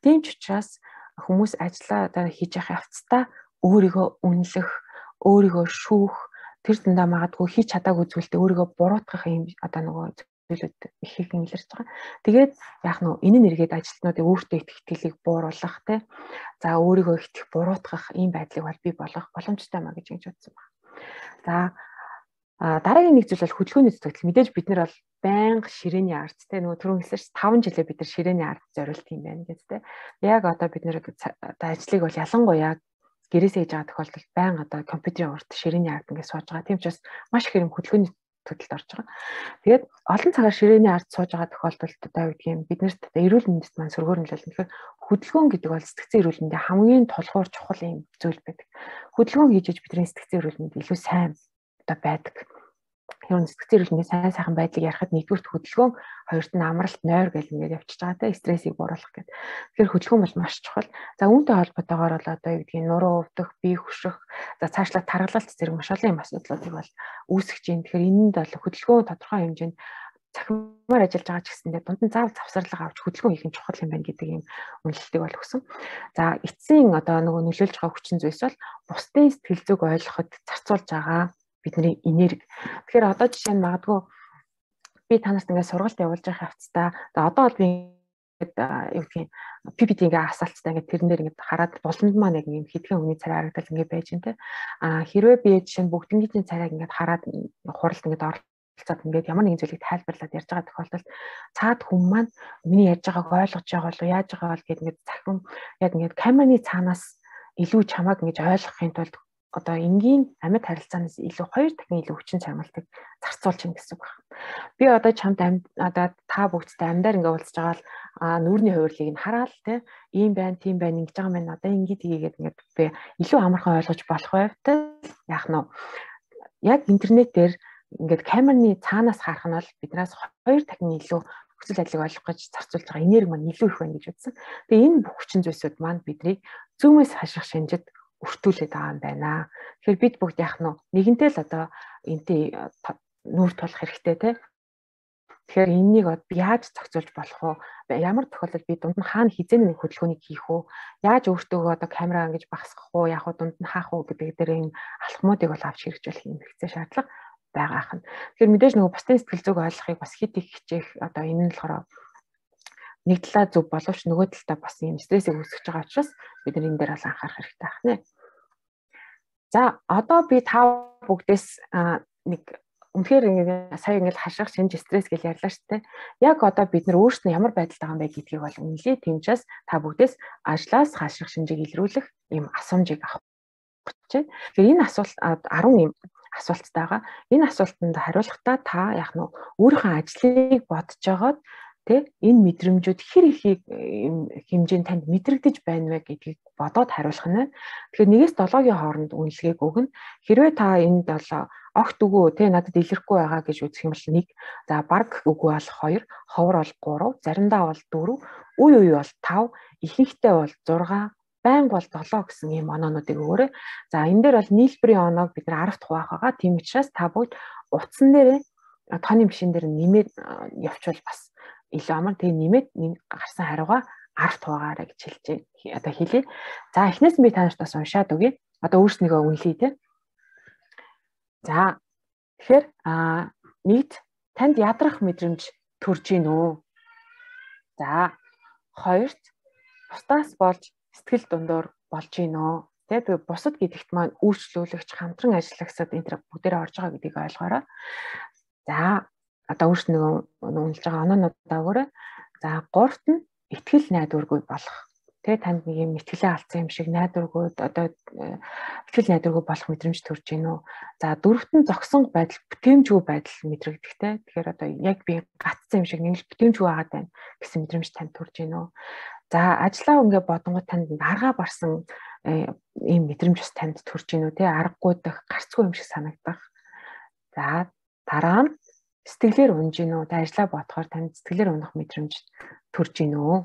Тийм ч учраас хүмүүс ажиллаа одоо хийж явах явцдаа өөрийгөө үнэлэх, өөрийгөө шүүх, тэр зандаа магадгүй хийж чадаагүй зүйлдээ өөрийгөө буруутгах юм одоо нөгөө зүйлүүд их их илэрч байгаа. Тэгээд яг нөө энэ нэргээд ажилтнуудын өөртөө итгэлийг бууруулах те. За өөрийгөө их буруутгах ийм байдлыг бол бий болгох боломжтой маа гэж бодсон байна. За дараагийн нэг зүйл бол хөдөлгөөний зүтгэл. Мэдээж бид нар бол байнга ширээний ард те нөгөө түрүүн хэлсэн 5 жилээ бид нар ширээний ард зориулт юм байна гэж те. Яг одоо бид нар одоо ажлыг бол ялангуяа гэрээсээ хийж байгаа тохиолдолд байнга одоо компьютерийн урд ширээний ард ингээд сууж байгаа. Тийм учраас маш их хэрэм хөдөлгөөний төлөлд орж байгаа. Тэгээд олон цагаар ширээний ард сууж байгаа тохиолдолд одоо юу гэдгийг биднэрт одоо эрүүл мэндэд маань сөргөөрнөлөл тэгэхээр хөдөлгөөн гэдэг бол сэтгцэн эрүүл мэндийн хамгийн тулгуур чухал юм зүйл байдаг. Хөдөлгөөн хийж бидний сэтгцэн эрүүл мэнд илүү сайн одоо байдаг. Ер нь сэтгцэн эрүүл мэндийн сайхан байдлыг ярихад нэгдүгürt хөдөлгөөн, хоёрт нь амралт, нойр гэл ингээд явчихж байгаа те стрессийг бууруулах гэдэг. Тэгэхээр хөдөлгөөн бол маш чухал. За үүнтэй холбоотойгоор бол одоо юу гэдгийг нуруу өвдөх, бие хөшрөх, за цаашлаад тархалт зэрэг маш олон юм асуудлуудыг бол үүсгэж байна. Тэгэхээр энэнд бол хөдөлгөөн тодорхой хэмжээнд цахимаар ажиллаж байгаа ч гэсэндээ дунд нь заавал завсарлага авч хөдөлгөөн хийх нь чухал юм байна гэдэг ийм үнэлтийг бол өгсөн. За эцсийн одоо нөгөө нөлөөлж байгаа хүчин зүйлс бол бусдын сэтгэл зүг ойлгоход зарцуулж байгаа бидний энерги. Тэгэхээр одоо жишээ нь магадгүй би та нарт ингээд сургалт явуулж байгаа хавцтай. Одоо бол би ингээд юу гэдгийг PPT ингээд асаалттай ингээд тэрэн дээр ингээд хараад боломж маань яг юм хэдхэн хүний царай харагдал ингээд байж байна те. Хэрвээ би жишээ нь бүгднийгийн царайг ингээд хараад хуралд ингээд оролцоод ингээд ямар нэгэн зүйлийг тайлбарлаад ярьж байгаа тохиолдолд цаад хүн маань миний ярьж байгааг ойлгож байгаа болов яаж байгаа бол гэдэг ингээд захин яг ингээд камераны цаанаас илүү чамааг ингээд ойлгохын тулд одоо энгийн амьд харилцаанаас илүү 2 дахин илүү хүчин чармайлтыг зарцуулж ийн гэсэн үг байна. Би одоо чамд одоо та бүгдтэй амьдаар ингээ уулзж байгаа л нүүрний хувирлыг нь хараад те ийм байна, тийм байна ингэж байгаа юм одоо ингээд хийгээд ингээд би илүү амархан ойлгож болох байвтай яах нь яг интернет дээр ингээд камерны цаанаас харах нь бол биднээс 2 дахин илүү хүсэл ажлыг ойлгох гэж зарцуулж байгаа энерги маань илүү их байна гэж үзсэн. Тэгээ энэ бүх хүчин зүйлсүүд маань биднийг зүүмээс хаших шинжид өртүүлээд байгаа юм байна. Тэгэхээр бид бүгд яах нь нэгэнтэй л одоо энтэй нүүр тулах хэрэгтэй те. Тэгэхээр энэнийг яаж зохицуулж болох вэ? Ямар тохиолдолд би дунд нь хаана хизээний нэг хөдөлгөөнийг хийх үү? Яаж өөртөө одоо камераа ингэж багасгах уу? Яг дунд нь хаах уу гэдэг дээр энэ алхмуудыг бол авч хэрэгжүүлэх юм хэрэгцээ шаардлага байгаа хань. Тэгэхээр мэдээж нөгөө бусдын сэтгэл зүг ойлгохыг бас хит их хичээх одоо энэ нь болохоор нэг талаа зөв боловч нөгөө талаа бас юм стрессийг үүсгэж байгаа учраас бид энэ дээр бол анхаарах хэрэгтэй байна. За одоо би та бүгдээс нэг үнэхээр сая ингээд хаших шинж стресс гэж ярьлаа шүү дээ. Яг одоо бид нар өөрсдөө ямар байдалд байгаа юм бэ гэдгийг бол үнэлээ. Тэмчээс та бүгдээс ажлаас хаших шинжийг илрүүлэх юм асуумжийг авах гэж. Тэгэхээр энэ асуулт 10 юм асуулттай байгаа. Энэ асуултанд хариулахдаа та яг нь өөрийнхөө ажлыг бодож байгаад тэ энэ мэдрэмжүүд хэр их хэмжээнд танд мэдрэгдэж байна вэ гэдгийг бодоод хариулах нь байна. Тэгэхээр 1-7-гийн хооронд үнэлгээг өгнө. Хэрвээ та энд бол огт үгүй тэ надад илэрхгүй байгаа гэж үзэх юм бол 1, за баг үгүй бол 2, ховор бол 3, заримдаа бол 4, үе үе бол 5, ихэнхдээ бол 6, байнга бол 7 гэсэн ийм оноонуудыг өгөөрэй. За энэ дээр бол нийлбэрийн оноог бид нар 10 дахь хуваах байгаа. Тийм учраас та бүгд утсан дээрээ тооны машин дээр нэмээд явуучвал бас илүү амар тэг нэмээд гарсан хариугаа 10 хуваагаараа гэж хэлж байна. Одоо хэлье. За эхнээс нь би та нарт бас уншаад өгье. Одоо өөрснийгөө үнэлье те. За тэгэхээр нэгд танд ядрах мэдрэмж төрж гин үү? За хоёрт бусдаас болж сэтгэл дундуур болж гин үү? Тэгээ бусад гэдэгт маань үйлчлүүлэгч, хамтран ажиллагчид энэ төр бүгдээрээ орж байгаа гэдгийг ойлгоорой. За одоо өөрснөө үнэлж байгаа оноонуудаа өгөөрэй. За гуравт нь итгэл найдваргүй болох. Тэгээ танд нэг юм итгэлээ алдсан юм шиг найдваргүй одоо итгэл найдваргүй болох мэдрэмж төрж гин үү. За дөрөвт нь зогсон байдал, бүтээмжгүй байдал мэдрэгдэхтэй. Тэгэхээр одоо яг би гатсан юм шиг нэг л бүтээмжгүй байгаад байна гэсэн мэдрэмж танд төрж гин үү. За ажлаа ингээ бодонгууд танд аргаа барсан ийм мэдрэмж бас танд төрж гин үү те, аргагүй дах, гарцгүй юм шиг санагдах. За дараа нь сэтгэлээр унж гин үү. Тэ ажлаа бодохоор танд сэтгэлээр унах мэдрэмж төрж гин үү.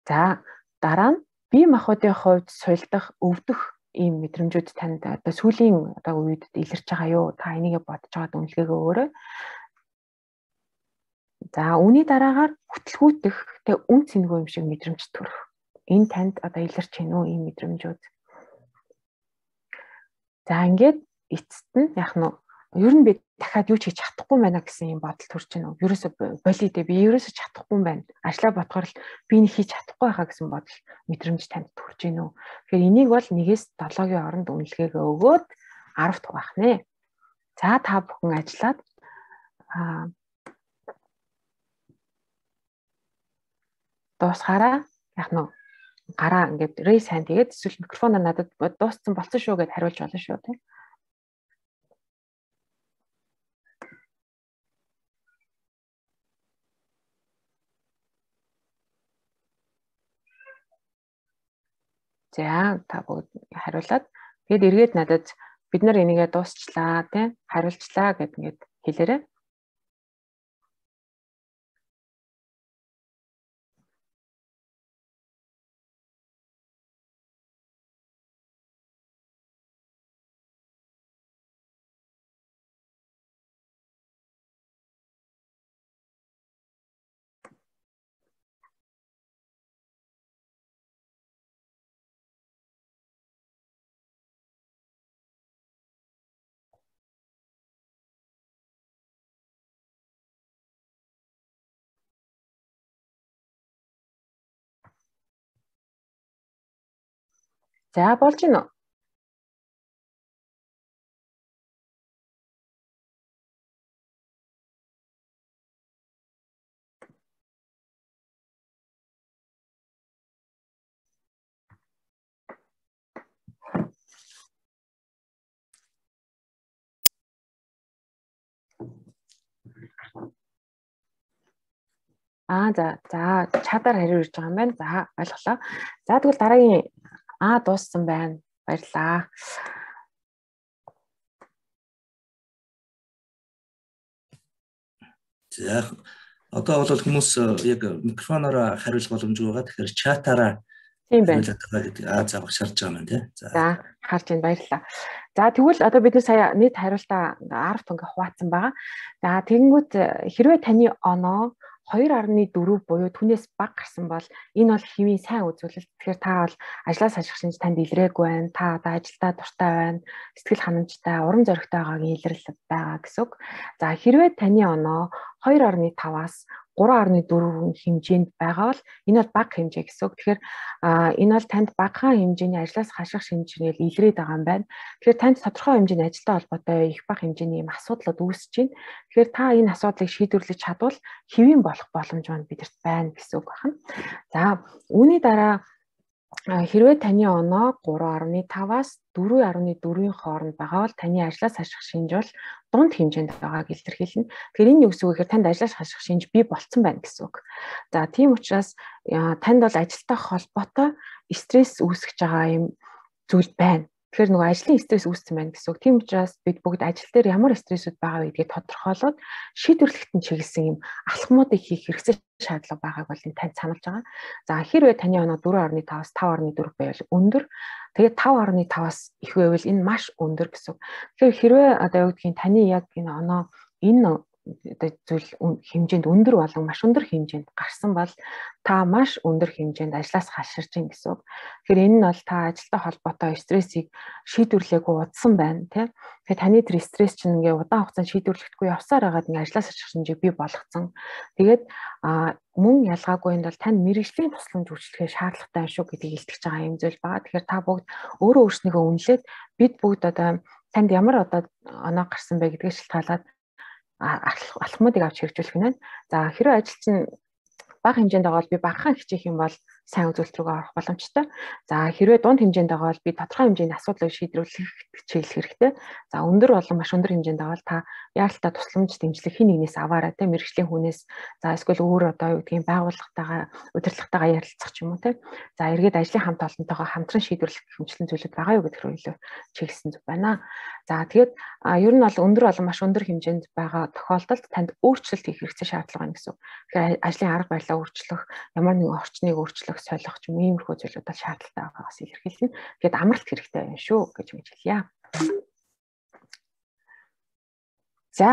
За дараа нь бие махбодын хувьд суйлдах, өвдөх ийм мэдрэмжүүд танд одоо сүүлийн одоо үед илэрч байгаа юу? Та энийгээ бодож байгаад үнэлгээгээ өгөөрэй. За үүний дараагаар хөтөлгүүтэх, тэ үн цэнгүй юм шиг мэдрэмж төрөх. Энэ танд одоо илэрч гин үү ийм мэдрэмжүүд. За ингээд эцэст нь яг нь ер нь би дахиад юу ч хийж чадахгүй байна гэсэн юм бодол төрж байна. Ерөөсө болидэ би ерөөсө чадахгүй юм байна. Ажлаа бодохоор л би нэг хийж чадахгүй байхаа гэсэн бодол мэдрэмж танд төрж байна уу. Тэгэхээр энийг бол 1-ээс 7-гийн оронд үнэлгээгээ өгөөд 10 дугайх нэ. За та бүхэн ажиллаад дуусгаараа яг нь гараа ингээд raise hand тэгээд эсвэл микрофоноо надад дууссан болсон шүү гэд хариулж болно шүү тийм. За та бүгд хариулаад тэгээд эргээд надад бид нар энийгээ дуусчлаа тийм хариулчлаа гэд ингээд хэлээрэй. За болж гин үү? За чадаар хариу ирж байгаа юм байна. За ойлголоо. За тэгвэл дараагийн дууссан байна. Баярлалаа. За одоо бол хүмүүс яг микрофоноор хариулах боломжгүй байгаа. Тэгэхээр чатаараа тийм байна. За багшарж байгаа юм тий. За харж байна, баярлалаа. За тэгвэл одоо бид нар сая нийт хариултаа 10 тоног хуваацсан байгаа. За тэгэнгүүт хэрвээ таны оноо 2.4 буюу түүнээс бага гарсан бол энэ бол хэвийн сайн үзүүлэлт. Тэгэхээр та бол ажлаас хаших шинж танд илрээгүй байна. Та одоо ажилдаа дуртай байна. Сэтгэл ханамжтай, урам зоригтой байгаагийн илэрлэл байгаа гэсэн үг. За хэрвээ таны оноо 2.5-аас 3.4 хэмжээнд байгаа бол энэ бол бага хэмжээ гэсэн үг. Тэгэхээр энэ бол танд багахан хэмжээний ажлаас хаших шинжээр илрээд байгаа юм байна. Тэгэхээр танд тодорхой хэмжээний ажилтай холбоотой их бага хэмжээний юм асуудлууд үүсэж байна. Тэгэхээр та энэ асуудлыг шийдвэрлэж чадвал хэвийн болох боломж маань бидэрт байна гэсэн үг байна. За үүний дараа хэрвээ таны оноо 3.5-аас 4.4-ийн хооронд байгаа бол таны ажлаас хаших шинж бол дунд хэмжээнд байгааг илэрхийлнэ. Тэгэхээр энэ юу гэсэн үг гэхээр танд ажлаас хаших шинж бий болцсон байна гэсэн үг. За тийм учраас танд бол ажилтай холбоотой стресс үүсгэж байгаа юм зүйл байна. Тэгэхээр нөгөө ажлын стресс үүссэн байна гэсэн үг. Тийм учраас бид бүгд ажил дээр ямар стрессүүд байгаа вэ гэдгийг тодорхойлоод шийдвэрлэхэд нь чиглэсэн юм алхмуудыг хийх хэрэгцээ шаардлага байгааг бол энэ танд сануулж байгаа. За хэрвээ таны оноо 4.5-аас 5.4 байвал өндөр. Тэгээд 5.5-аас их байвал энэ маш өндөр гэсэн үг. Тэгэхээр хэрвээ одоо юу гэдгийг таны яг энэ оноо энэ зүйл хэмжээнд өндөр болон маш өндөр хэмжээнд гарсан бол та маш өндөр хэмжээнд ажлаас хаширч ийн гэсэн үг. Тэгэхээр энэ нь бол та ажилтай холбоотой стрессийг шийдвэрлээгүй удсан байна тий. Тэгэхээр таны тэр стресс чинь ингээ удаан хугацаанд шийдвэрлэхгүй явсаар байгаад ингээ ажлаас хаширч шинжийг бий болгоцсон. Тэгээд мөн ялгаагүй энэ бол тань мэрэгжлийн тусламж үйлчлэхээ шаардлагатай шүү гэдгийг илтгэж байгаа юм зүйл байгаа. Тэгэхээр та бүгд өөрөө өөрснийгөө үнэлээд бид бүгд одоо танд ямар одоо оноо гарсан бэ гэдгийг шалтгаалаад алхмуудыг авч хэрэгжүүлэх нь. За хэрэв ажил чинь бага хэмжээнд байгаа бол би багахан хичээх юм бол сайн үзүүлэлт рүүгээ орох боломжтой. За хэрвээ дунд хэмжээнд байгаа бол би тодорхой хэмжээний асуудлыг шийдвэрлэх чиглэл хэрэгтэй. За өндөр болон маш өндөр хэмжээнд байгаа бол та яалтаа тусламж дэмжлэг хин нэгнээс аваарай те мэрэгжлийн хүнээс. За эсвэл өөр одоо юу гэдгийг байгууллагатайгаа удирдлагатайгаа ярилцах ч юм уу те. За эргээд ажлын хамт олонтойгоо хамтран шийдвэрлэх хэмжлэн зүйлүүд байгаа юу гэдгээр илүү чиглэсэн зүг байна. За тэгээд ер нь бол өндөр болон маш өндөр хэмжээнд байгаа тохиолдолд танд өөрчлөлт хийх хэрэгцээ шаардлага байна гэсэн. Тэгэхээр ажлын арга барилаа өөрчлөх, ямар нэгэн орчныг өөрчлөх, солих ч юм иймэрхүү зүйлүүд бол шаардлагатай байгаагаас илэрхийлнэ. Тэгээд амралт хэрэгтэй байна шүү гэж хэлье. За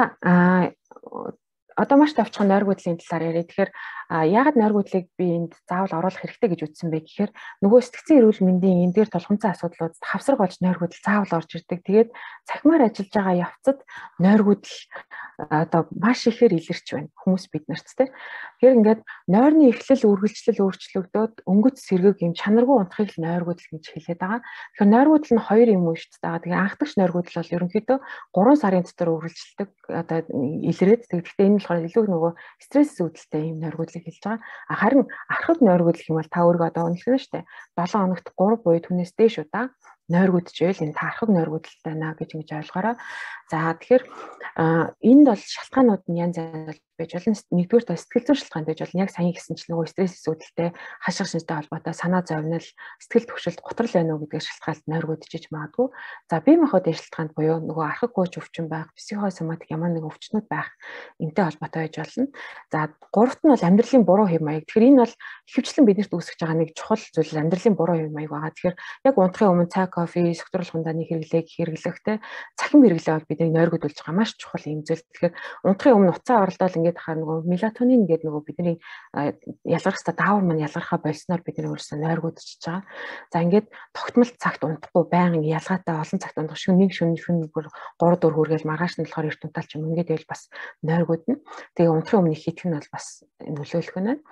одоо маш товчхон нойр гүйдлийн талаар яриа. Тэгэхээр яагаад нойр гүйдлийг би энд заавал оруулах хэрэгтэй гэж үзсэн бэ гэхээр нөгөө сэтгцэн эрүүл мэндийн энэ дээр тулгымцсан асуудлууд хавсар болж нойр гүйдэл заавал орж ирдэг. Тэгээд цахимаар ажиллаж байгаа явцад нойр гүйдэл одоо маш ихээр илэрч байна хүмүүс биднэрт те. Тэгэхээр ингээд нойрны эхлэл үргэлжлэл өөрчлөгдөөд өнгөц сэргэг юм чанаргүй унтахыг л нойр гүйдэл гэж хэлээд байгаа. Тэгэхээр нойр гүйдэл нь хоёр юм уу шүү дээ. Тэгээ анхдагч нойр гүйдэл бол ерөнхийдөө 3 сарын дотор үргэлжилдэг одоо илрээд тэгэхдээ энэ болохоор илүү нөгөө стресс үүдэлтэй юм нойр гүйдэл хэлж байгаа. Харин архаг нойр гүйдэл юм бол та өөрийгөө одоо үнэлсэн шүү дээ. 7 хоногт 3 буюу түүнээс дээш удаа нойр гүйдчихвэл энэ та архаг нойр гүйдэлтэй наа гэж ингэж ойлгоорой. За тэгэхээр энд бол шалтгаанууд нь янз янз байж болно. Нэгдүгээр сэтгэл зүйн шалтгаан байж болно. Яг сайн гэсэн чинь нөгөө стресс үүдэлтэй хашиг шинжтэй холбоотой санаа зовнил, сэтгэл төвшөлт готрол байна уу гэдгээр шалтгаалт нойр гүйдэж магадгүй. За бие махбодын шалтгаанд буюу нөгөө архаг гүйж өвчин байх, психосоматик ямар нэгэн өвчнүүд байх энтэй холбоотой байж болно. За гуравт нь бол амьдралын буруу хэв маяг. Тэгэхээр энэ бол ихэвчлэн биднэрт үүсгэж байгаа нэг чухал зүйл амьдралын буруу хэв маяг байгаа. Тэгэхээр яг унтахын өмнө цай, кофе, согтууруулах хунданы хэрэглээх те цахим хэрэглээ бол бидний нойр гүйдүүлж байгаа маш чухал юм зүйл. Тэгэхээр унтахын өмнө уцаа оролдоод ингээд хахаар нөгөө мелатонин гэдэг нөгөө бидний ялгарх хэвээр даавар маань ялгархаа болсноор бидний өөрсдөө нойр гүйдчихэж байгаа. За ингээд тогтмол цагт унтахгүй байнга ялгаатай олон цагт унтах шиг нэг шөнө 3 4 хүргээл маргааш нь болохоор эрт унтаалч юм ингээд байвал бас нойр гүйднэ. Тэгээ унтахын өмнө хийх нь бол бас нөлөөлөх нь байна.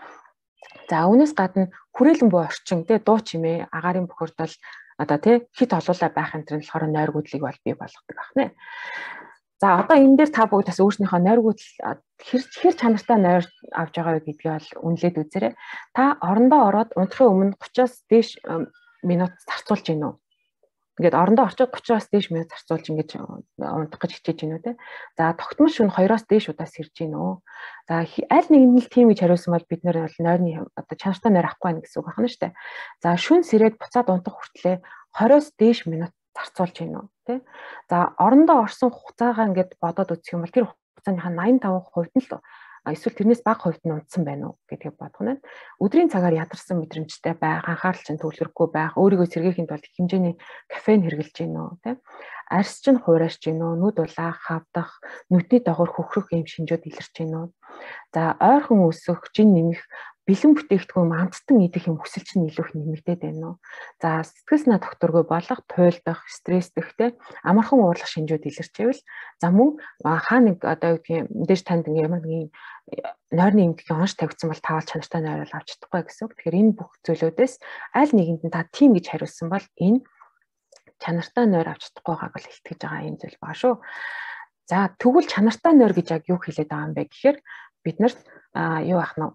За үүнээс гадна хүрээлэн буй орчин те дуу чимээ агаарын бохирдол одоо тий хит олуулаа байх энэ төр нь болохоор нойр гүйдлийг бол бий болгодог байна. За одоо энэ дээр та бүгд бас өөрснийхөө нойр гүйдэл хэр чанартай нойр авч байгаа вэ гэдгийг бол үнэлээд үзээрэй. Та орондоо ороод унтахын өмнө 30-аас дээш минут зарцуулж гин үү? Ингээд орондоо орчоод 30-аас дээш минут зарцуулж ингэж унтах гэж хичээж гин үү те. За тогтмол шөнө 2-оос дээш удаа сэрж гин үү? За аль нэгэнд нь тийм гэж хариулсан бол бид нэр бол нойрны одоо чанартай нойр авахгүй байх гэсэн үг байна шүү дээ. За шөнө сэрээд буцаад унтах хүртлээр 20-оос дээш минут зарцуулж гин үү те. За орондоо орсон хугацаагаа ингээд бодоод үзэх юм бол тэр хугацааныхаа 85% нь л эсвэл тэрнээс бага хувьд нь унтсан байна уу гэдгийг бодох нь. Өдрийн цагаар ядарсан мэдрэмжтэй байх, анхаарал чинь төвлөрөхгүй байх, өөрийгөө сэргээхийн тулд хэмжээний кофеин хэрглэж гин үү те. Арьс чинь хуурайж гин үү, нүд улаах, хавдах, нүдний дагавар хөхрөх юм шинжүүд илэрч гин үү. За ойрхон өсөх, жин нэмэх, бэлэн бүтээгдэхүүн амттан идэх юм хүсэл чинь илүү их нэмэгдээд байна уу. За сэтгэл санаа докторгүй болох, туйлдах, стресстэх амархан уурлах шинжүүд илэрчээвэл за мөн хаа нэг одоо юу гэдгийг мэдээж танд ямар нэгэн нойрны эмгэхийн онш тавьсан бол таавал чанартай нойр авч чадахгүй гэсэн. Тэгэхээр энэ бүх зүйлүүдээс аль нэгэнд нь та тийм гэж хариулсан бол энэ чанартай нойр авч чадахгүй байгааг бол илтгэж байгаа юм зүйл баа шүү. За тэгвэл чанартай нойр гэж яг юу хэлээд байгаа юм бэ гэхээр бид нарт юу ах нь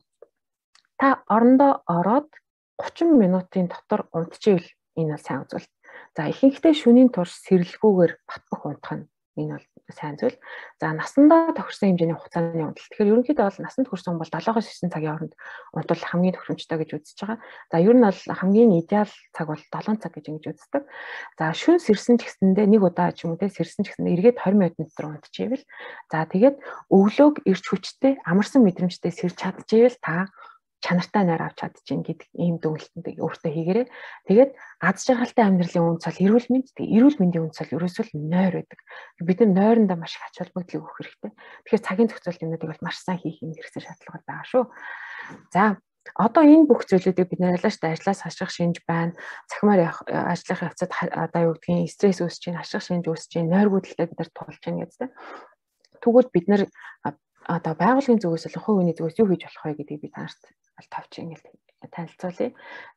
та орондоо ороод 30 минутын дотор унтчихвэл энэ бол сайн зүйл. За ихэнхдээ шөнийн турш сэрэлгүйгээр батбах унтах нь энэ бол сайн зүйл. За насандаа тохирсон хэмжээний хугацааны унталт. Тэгэхээр ерөнхийдөө бол насанд хүрсэн хүн бол 7-9 цагийн хооронд унтвал хамгийн тохиромжтой гэж үзэж байгаа. За ер нь бол хамгийн идеал цаг бол 7 цаг гэж ингэж үздэг. За шөнө сэрсэн ч гэсэндээ нэг удаа ч юм уу те сэрсэн ч гэсэндээ эргээд 20 минут дотор унтчихвэл за тэгээд өглөөг эрч хүчтэй амарсан мэдрэмжтэй сэрж чадчихвэл та чанартай нойр авч чадчихин гэдэг ийм дүгнэлтийг өөртөө хийгээрэй. Тэгээд аз жаргалтай амьдралын үндэс бол эрүүл мэнд. Тэгээд эрүүл мэндийн үндэс бол ерөөсөө л нойр байдаг. Бид нар нойрондоо маш их ач холбогдлыг өгөх хэрэгтэй. Тэгэхээр цагийн зохицуулт юмнуудыг бол маш сайн хийх юм хэрэгцээ шаардлага байгаа шүү. За одоо энэ бүх зүйлүүдийг бид нэр ялаа штэ ажлаас хаших шинж байна. Цахимаар ажлынхаа явцад одоо юу гэдгийг стресс үүсэж чинь, хаших шинж үүсэж чинь, нойргуудлаа бид нар тулж чинь гэдэг. Тэгвэл бид нар одоо байгууллагын зүгээс л хувь хүний зүгээс юу хийж болох вэ гэдгийг би танарт товч ингэж танилцуулъя.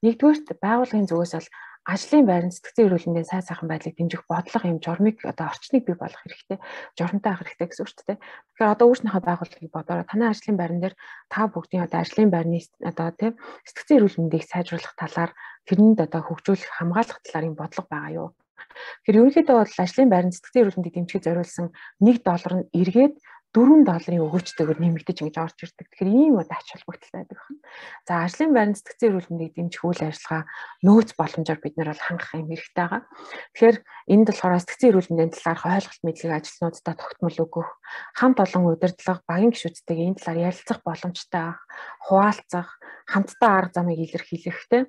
Нэгдүгээр байгууллагын зүгээс бол ажлын байрны сэтгцэн эрүүл мэндийн сайн сайхан байдлыг дэмжих бодлого юм журмыг одоо орчныг бий болгох хэрэгтэй. Журамтай авах хэрэгтэй гэсэн үг шүү дээ. Тэгэхээр одоо өөрснийхөө байгууллагыг бодороо танай ажлын байран дээр та бүгдийн одоо ажлын байрны одоо тийм сэтгцэн эрүүл мэндийг сайжруулах талаар тэрэнд одоо хөгжүүлэх хамгаалах талаар юм бодлого байгаа юу? Тэгэхээр ерөнхийдөө бол ажлын байрны сэтгцэн эрүүл мэндийг дэмжихийг зориулсан $1 нь эргээд $4 өгөөчтэйгээр нэмэгдэж ингэж орж ирдэг. Тэгэхээр ийм одоо ач холбогдолтой байдаг байна. За ажлын байрны сэтгцэн эрүүл мэндийг дэмжих үйл ажиллагаа нөөц боломжоор бид нар бол хангах юм хэрэгтэй байгаа. Тэгэхээр энд болохоор сэтгцэн эрүүл мэндийн талаарх ойлголт мэдлэг ажилтнуудтай тогтмол өгөх, хамт олон удирдлага, багийн гишүүдтэйгээ энэ талаар ярилцах боломжтой авах, хуваалцах, хамтдаа арга замыг илэрхийлэхтэй.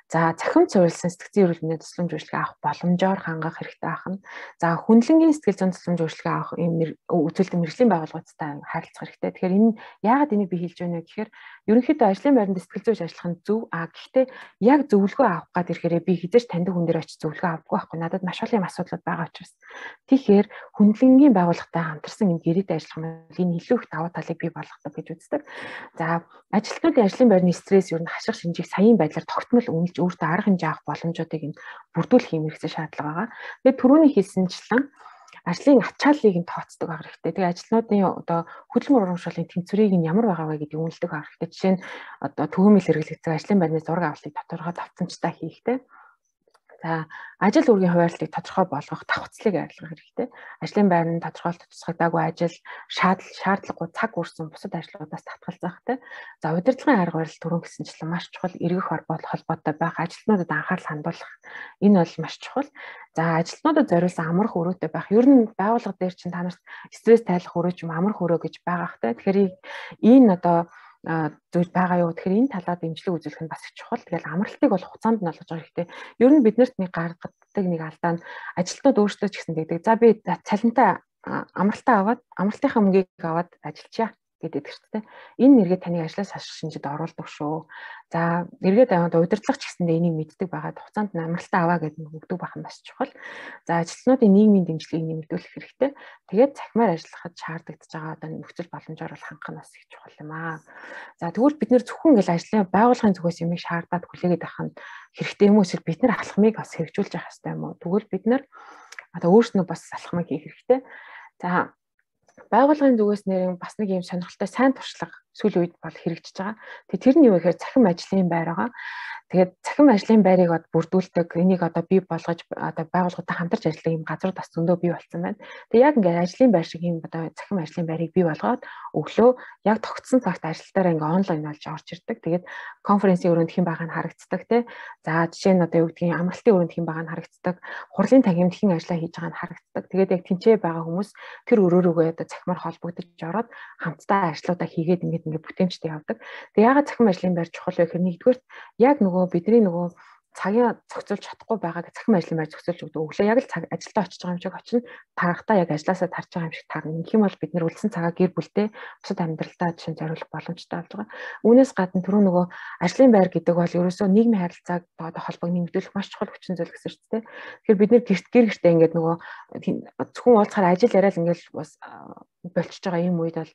За цахим цувралсан сэтгцэн эрүүл мэндийн тусламж үйлчилгээ авах боломжоор хангах хэрэгтэй байна. За хүнлэнгийн сэтгэл зүйн тусламж үйлчилгээ авах юм үзүүлэлт мэргэжлийн байгууллагуудтай харилцах хэрэгтэй. Тэгэхээр энэ яагаад энийг би хэлж байна вэ гэхээр ерөнхийдөө ажлын байранд сэтгэл зүйч ажиллах нь зөв. Гэхдээ яг зөвлөгөө авах гад ирэхээр би хизээч таньдаг хүн дээр очиж зөвлөгөө авахгүй байхгүй. Надад маш олон асуудлууд байгаа учраас. Тэгэхээр хүнлэнгийн байгууллагатай хамтарсан энэ гэрээтэй ажиллах нь энэ илүү их даваа талыг бий болгодог гэж үздэг. За ажилтнуудын ажлын байрны стресс ер нь хаших шинжийг саяын байдлаар тогтмол үнэлж өөртөө арга хэмжээ авах боломжуудыг энэ бүрдүүлэх юм хэрэгцээ шаардлага байгаа. Тэгээд түрүүний хэлсэнчлэн ажлын ачааллыг нь тооцдог байх хэрэгтэй. Тэгээ ажилтнуудын одоо хөдөлмөр урамшууллын тэнцвэрийг нь ямар байгаа вэ гэдгийг үнэлдэг байх хэрэгтэй. Жишээ нь одоо төгөөмөл хэрэглэгдсэн ажлын байрны зураг авалтыг тодорхой давтамжтай хийхтэй. За ажил үүргийн хуваарлтыг тодорхой болгох, давхцлыг арилгах хэрэгтэй. Ажлын байрны тодорхойлт тусгагдаагүй ажил, шаардлагагүй цаг үрсэн бусад ажлуудаас татгалзахтай. За удирдлагын арга барил түрүүн гэсэнчлэн маш чухал эргэх холбоотой байх, ажилтнуудад анхаарал хандуулах энэ бол маш чухал. За ажилтнуудад зориулсан амрах өрөөтэй байх. Ер нь байгууллага дээр чинь та нарт стресс тайлах өрөө ч юм амрах өрөө гэж байгаа хтэй. Тэгэхээр энэ одоо зүйл байгаа юу тэгэхээр энэ талаар дэмжлэг үзүүлэх нь бас их чухал. Тэгэл амралтыг бол хугацаанд нь олгож байгаа хэрэгтэй. Ер нь биднэрт нэг гаргадаг нэг алдаа нь ажилтнууд өөрсдөө ч гэсэн дэгдэг. За би цалинтай амралтаа аваад амралтынхаа мөнгийг аваад ажиллачаа гэдэг хэрэгтэй. Энэ нэргээ таны ажлаас хаших шинжид оруулдаг шүү. За эргээд аваад удирдлага ч гэсэндээ энийг мэддэг байгаад хугацаанд нь амралтаа аваа гэдэг нь өгдөг байх нь бас чухал. За ажилтнуудын нийгмийн дэмжлэгийг нэмэгдүүлэх хэрэгтэй. Тэгээд цахимаар ажиллахад шаардлагатж байгаа одоо нөхцөл боломжоор бол хангах нь бас их чухал юм аа. За тэгвэл бид нэр зөвхөн ингээл ажлын байгууллагын зүгээс юмыг шаардаад хүлээгээд авах нь хэрэгтэй юм уу эсвэл бид нар алхмыг бас хэрэгжүүлж явах хэрэгтэй юм уу? Тэгвэл бид нар одоо өөрснөө бас алхмыг хийх хэрэгтэй. За байгууллагын зүгээс нэр бас нэг юм сонирхолтой сайн туршлага сүүлийн үед бол хэрэгжиж байгаа. Тэгээ тэр нь юу гэхээр цахим ажлын байр байгаа. Тэгээд цахим ажлын байрыг одоо бүрдүүлдэг энийг одоо бий болгож одоо байгууллагатай хамтарч ажиллах юм газрууд бас зөндөө бий болсон байна. Тэгээд яг ингээд ажлын байр шиг юм одоо цахим ажлын байрыг бий болгоод өглөө яг тогтсон цагт ажилтнаараа ингээд онлайн болж орж ирдэг. Тэгээд конференцийн өрөөнд хэн байгаа нь харагддаг тий. За жишээ нь одоо юу гэдгийг амралтын өрөөнд хэн байгаа нь харагддаг. Хурлын тагимд хэн ажиллаа хийж байгаа нь харагддаг. Тэгээд яг тэнцээ байгаа хүмүүс тэр өрөөрөөгөө одоо цахимаар холбогдож ороод хамтдаа ажлуудаа хийгээд ингээд бүтээмжтэй явдаг. Тэг яагаад цахим ажлын байр чухал вэ гэхээр нэгдүгээр яг бидний цагийн зохицуулж чадахгүй байгааг цахим ажлын байр зохицуулж өгдөг. Өглөө яг л ажилдаа очиж байгаа юм шиг очино. Тарахтаа яг ажилласаа тарж байгаа юм шиг таарна. Ингэх юм бол бид нэр үлдсэн цагаа гэр бүлтэй бусад амьдралдаа жишээ зориулах боломжтой болж байгаа. Үүнээс гадна түрүү ажлын байр гэдэг бол ерөөсөө нийгмийн харилцааг одоо холбоог нэмэгдүүлэх маш чухал хүчин зүйл гэсэн үг тийм. Тэгэхээр бид нэр гэртээ ингээд зөвхөн уулзахаар ажил яриад ингээд бас болчихж байгаа юм үед бол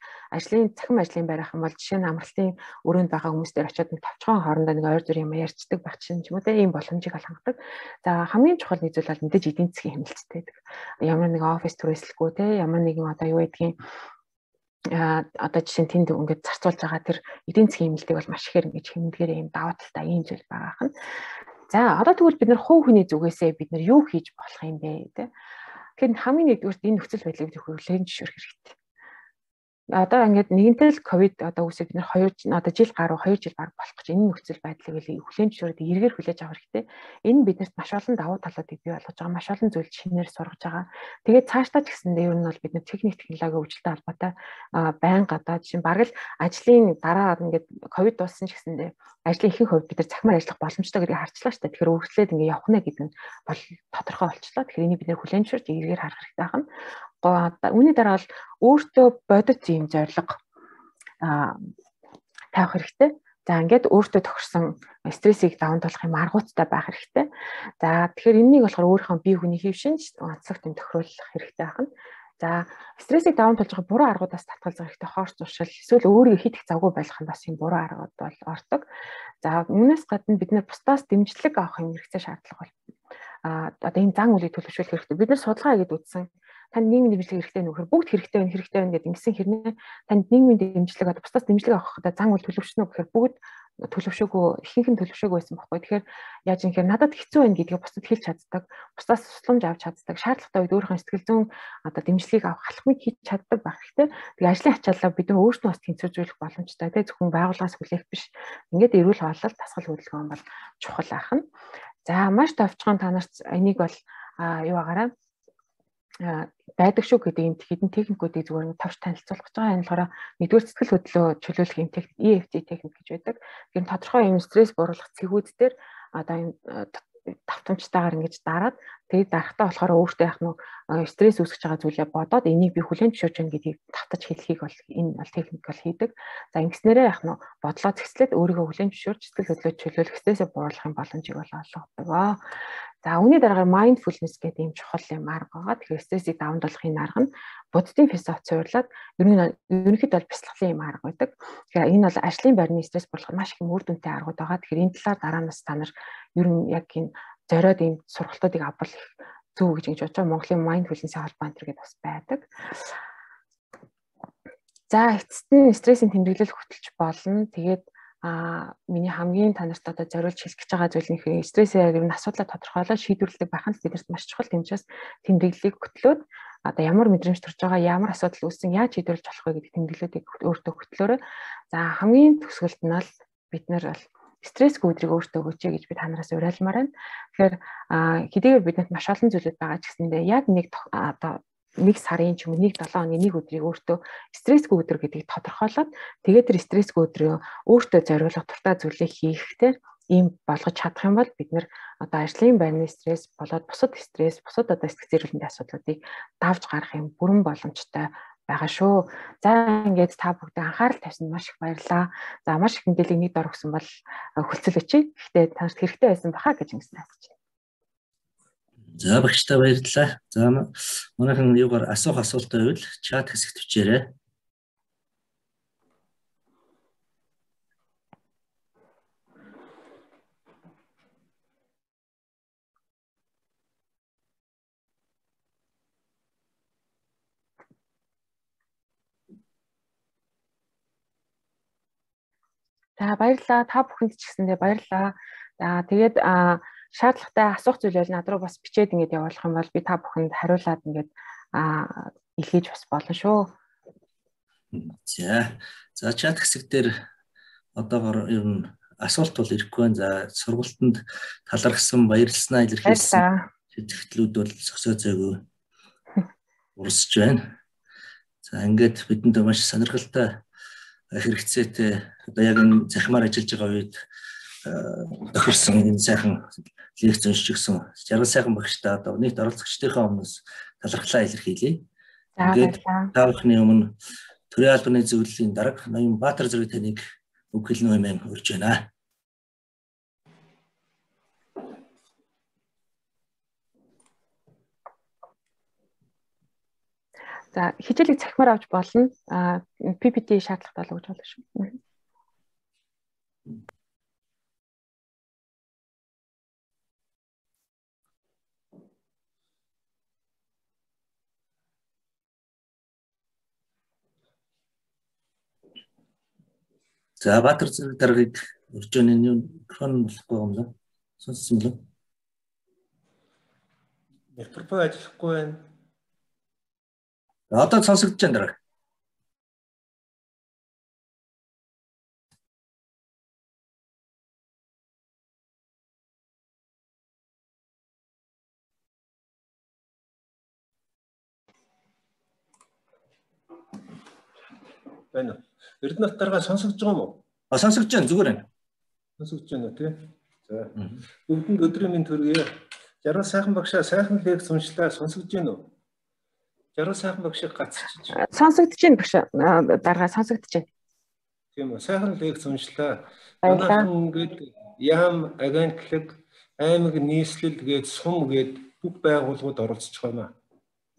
цахим ажлын байр ах юм бол жишээ нь амралтын өрөөнд байгаа хүмүүс дээр очиод нэг тавчхан хоорондоо нэг ойр зүр юм ярьцдаг байх чинь ч юм уу тийм боломжийг хангалтдаг. За хамгийн чухал нэг зүйл бол мэдээж эдийн засгийн хэмнэлцтэй байдаг. Ямар нэг офис түрээслэхгүй те ямар нэгэн одоо юу гэдгийг одоо жишээ нь тэнд ингээд зарцуулж байгаа тэр эдийн засгийн хэмнэлтийг бол маш ихээр ингэж хэмнэлгээр юм даваа талтай ийм зүйл байгаа хань. За одоо тэгвэл бид нар хувь хүний зүгээсээ бид нар юу хийж болох юм бэ те. Тэгэхээр хамгийн нэгдүгээр энэ нөхцөл байдлыг бид хүлээн зөвшөөрөх хэрэгтэй. одоо ингээд нэгэнтэл ковид одоо үсэг бид нэр 2 одоо жил гаруй 2 жил баг болох гэж энэ нөхцөл байдлыг хүлээн зөвшөөрөд эргээр хүлээж авах хэрэгтэй. Энэ биднэрт маш олон давуу талуудыг бий болгож байгаа, маш олон зүйл шинээр сургаж байгаа. Тэгээд цаашдаа ч гэсэндээ ер нь бол бид нэр техник технологийн хөгжилтэй холбоотой байнга одоо жишээ баг л ажлын дараа ингээд ковид дууссан ч гэсэндээ ажлын ихэнх хувьд бид нар захимаар ажиллах боломжтой гэдгийг харчлаа шүү дээ. Тэгэхээр үргэлжлээд ингээд явах нэ гэдэг нь бол тодорхой болчихлоо. Тэгэхээр энийг бид нэр хүлээн зөвшөөрж эргээр харах хэрэгтэй байна. Үүний дараа бол өөртөө бодит юм зорилго тавих хэрэгтэй. За ингээд өөртөө тохирсон стрессийг даван туулах юм аргуудтай байх хэрэгтэй. За тэгэхээр энэнийг болохоор өөрийнхөө бие хүний хэв шинж онцлог юм тохируулах хэрэгтэй байна. За стрессийг даван туулж байгаа буруу аргуудаас татгалзах хэрэгтэй. Хоорч зуршил эсвэл өөрийгөө хит их завгүй байлгах нь бас юм буруу аргууд бол ордог. За үүнээс гадна бид нэр бусдаас дэмжлэг авах юм хэрэгтэй шаардлага бол одоо энэ зан үлийг төлөвшүүлэх хэрэгтэй. Бид нар судалгаа хийгээд үзсэн. Танд нийгмийн дэмжлэг хэрэгтэй нөхөр бүгд хэрэгтэй байна гэдэг ингэсэн хэрнээ танд нийгмийн дэмжлэг одоо бусдаас дэмжлэг авах гэдэг зан үйл төлөвшнө гэхээр бүгд төлөвшөөгөө ихэнх нь төлөвшөөгөө байсан байхгүй. Тэгэхээр яаж юм хэрэг надад хэцүү байна гэдгийг бусдад хэлж чаддаг, бусдаас тусламж авч чаддаг, шаардлагатай үед өөрийнхөө сэтгэл зүйн одоо дэмжлэгийг авах алхмыг хийж чаддаг байх хэрэгтэй. Тэгээ ажлын ачаалал бид нар өөрсдөө бас тэнцвэржүүлэх боломжтой. Тэгээ зөвхөн байгууллагаас хүлээх биш. Ингээд эрүүл хооллолт дасгал хөдөлгөөн бол чухал ахна. За маш товчхон та нарт энийг бол юу агаараа байдаг шүү гэдэг юм хэдэн техникүүдийг зүгээр нь товч танилцуулах гэж байгаа. Энэ болохоор нэгдүгээр сэтгэл хөдлөлөө чөлөөлөх юм техник EFT техник гэж байдаг. Тэгэхээр тодорхой юм стресс бууруулах цэгүүд дээр одоо юм давтамжтайгаар ингэж дараад тэгээд дарахтаа болохоор өөртөө яг нь стресс үүсгэж байгаа зүйлээ бодоод энийг би хүлээн зөвшөөрч байна гэдгийг татаж хэлхийг бол энэ бол техник бол хийдэг. За ингэснээрээ яг нь бодлоо зэгслээд өөрийгөө хүлээн зөвшөөрч сэтгэл хөдлөлөө чөлөөлөх стрессээ бууруулах боломжийг бол олгодог. За үүний дараагаар mindfulness гэдэг юм чухал юм арга байгаа. Тэгэхээр стрессийг даван туулахын арга нь буддийн философи цуурлаад ерөнхийдөө бол бяцлаглалын юм арга байдаг. Тэгэхээр энэ бол ажлын байрны стресс бууруулахад маш их үр дүнтэй аргууд байгаа. Тэгэхээр энэ талаар дараанаас та нар ер нь яг энэ зориод ийм сургалтуудыг авбал их зөв гэж бодож байгаа. Монголын mindfulness-ийн холбоо энэ гэдэг бас байдаг. За эцэст нь стрессийн тэмдэглэл хөтөлж болно. Тэгээд миний хамгийн та нарт одоо зориулж хэлэх гэж байгаа зүйл нь стрессээр ер нь асуудлаа тодорхойлоод шийдвэрлэдэг байх нь бидэрт маш чухал тэмцээс тэмдэглэлийг хөтлөөд одоо ямар мэдрэмж төрж байгаа, ямар асуудал үүссэн, яаж шийдвэрлэж болох вэ гэдэг тэмдэглэлүүдийг өөртөө хөтлөөрэй. За хамгийн төгсгөлд нь бол бид нар бол стрессгүй өдрийг өөртөө өгөөч гэж би та нараас уриалмаар байна. Тэгэхээр хэдийгээр бидэнд маш олон зүйлүүд байгаа ч гэсэндээ яг нэг сарын ч юм уу нэг 7 хоногийн нэг өдрийг өөртөө стрессгүй өдөр гэдгийг тодорхойлоод тэгээд тэр стрессгүй өдрөө өөртөө зориулах дуртай зүйлээ хийхтэй ийм болгож чадах юм бол бид нэр одоо ажлын байрны стресс болоод бусад стресс, бусад одоо сэтгэл зүйн асуудлуудыг давж гарах юм бүрэн боломжтой байгаа шүү. За ингээд та бүгд анхаарал тавьсанд маш их баярлалаа. За маш их мэдээллийг нэг дор өгсөн бол хөлцөл өчье. Гэхдээ танарт хэрэгтэй байсан баха гэж ингэсэн асууж байна. За багштай баярлалаа. За манайхан юугаар асуух асуултаа байвал чат хэсэгт бичээрэй. За баярлалаа. Та бүхэнд ч гэсэндээ баярлалаа. За тэгээд шаардлагатай асуух зүйл бол над руу бас бичээд ингээд явуулах юм бол би та бүхэнд хариулаад ингээд илгээж бас болно шүү. За чат хэсэг дээр одоогоор ер нь асуулт бол ирэхгүй байна. За сургалтанд талархсан, баярлснаа илэрхийлсэн сэтгэлдлүүд бол зөксөө зээгөө урсж байна. За ингээд бидэнд маш сонирхолтой хэрэгцээтэй одоо яг энэ захимаар ажиллаж байгаа үед тохирсон энэ сайхан лекц уншижсэн жаргал сайхан багштай одоо нийт оролцогчдынхаа өмнөөс талархлаа илэрхийлье. Тэгээд та бүхний өмнө төрийн албаны зөвлөлийн дарга Ноён Баатар зэрэг таныг үг хэлнэ хэмээн урьж байна. За хичээлийг захимаар авч болно. PPT шаардлагатай л гэж болно шүү. За Баатар зэрэг даргаыг урьж байна. Микрофон болохгүй юм да. Сонссон мөлөө? Микрофон ажиллахгүй байна. Одоо сонсогдож байна дарга. байна уу? Эрдэнэт дарга сонсогдож байгаа юм уу? Сонсогдож байна, зүгээр байна. Сонсогдож байна уу тий? За. Бүгдэнд өдрийн мэнд хүргэе. Жаргал сайхан багшаа сайхан лекц уншлаа, сонсогдож байна уу? Жаргал сайхан багшийг гацчих. Сонсогдож байна багш. Дарга сонсогдож байна. Тийм үү. Сайхан лекц уншлаа. Манайхан гээд яам агентлаг аймаг нийслэл гээд сум гээд бүх байгууллагууд оролцож байна.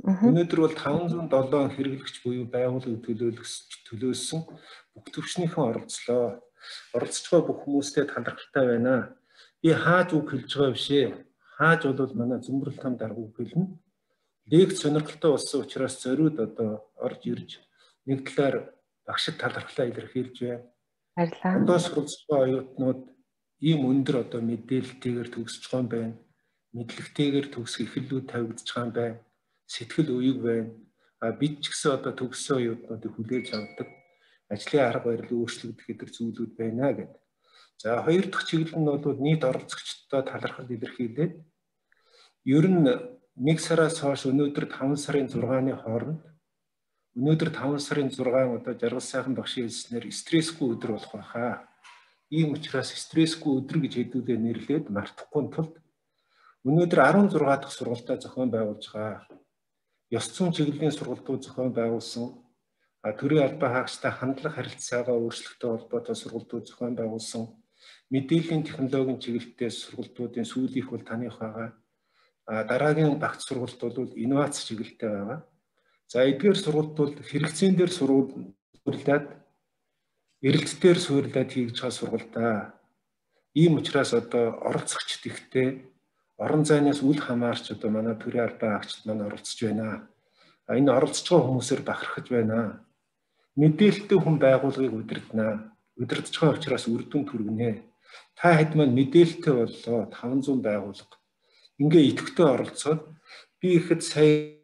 Өнөөдөр бол 507 хэрэглэгч буюу байгууллага төлөөлсөн бүх төвчнийхэн оролцлоо. Оролцож байгаа бүх хүмүүстэй талархалтай байна. Би хааж үг хэлж байгаа биш ээ. Хааж бол манай Зөмбөрөл там дарга үг хэлнэ. Лекц сонирхолтой болсон учраас зориуд одоо орж ирж нэг талаар багшид талархлаа илэрхийлж байна. Баярлалаа. Одоо суралцж байгаа оюутнууд ийм өндөр одоо мэдээлэлтэйгээр төгсөж байгаа юм байна. Мэдлэгтэйгээр төгсөх эхлэлүүд тавигдж байгаа юм байна. Сэтгэл уяг байна. Бид ч гэсэн одоо төгссөн оюутнуудыг хүлээж авдаг. Ажлын арга барил өөрчлөгдөх хэдэр зүйлүүд байна гэдэг. За хоёр дахь чиглэл нь бол нийт оролцогчдод талархал илэрхийлээд ер нь 1 сараас хойш өнөөдөр 5 сарын 6-ны хооронд өнөөдөр 5 сарын 6 одоо жаргал сайхан багшийн хэлснээр стрессгүй өдөр болох байхаа. Ийм учраас стрессгүй өдөр гэж хэдүүлээ нэрлээд мартахгүй тулд өнөөдөр 16 дахь сургалтаа зохион байгуулж байгаа. Ёс зүйн чиглэлийн сургалтууд зохион байгуулсан. Төрийн албан хаагчтай хандлага харилцаагаа өөрчлөлттэй холбоотой сургалтууд зохион байгуулсан. Мэдээллийн технологийн чиглэлтэй сургалтуудын сүүлийнх бол таних байгаа. Дараагийн багц сургалт бол инновац чиглэлтэй байгаа. За эдгээр сургалт бол хэрэгцээн дээр суурилаад эрэлтээр суурилаад хийж байгаа сургалтаа. Ийм учраас одоо оролцогчд ихтэй орон зайнаас үл хамаарч одоо манай төрийн албан хаагчид маань оролцож байна. Энэ оролцож байгаа хүмүүсээр бахархаж байна. Мэдээлэлтэй хүн байгууллагыг удирдана. Удирдах байгаа учраас үр дүн түргэнэ. Та хэд маань мэдээлэлтэй боллоо 500 байгууллага. Ингээ идэвхтэй оролцоод би ихэд сая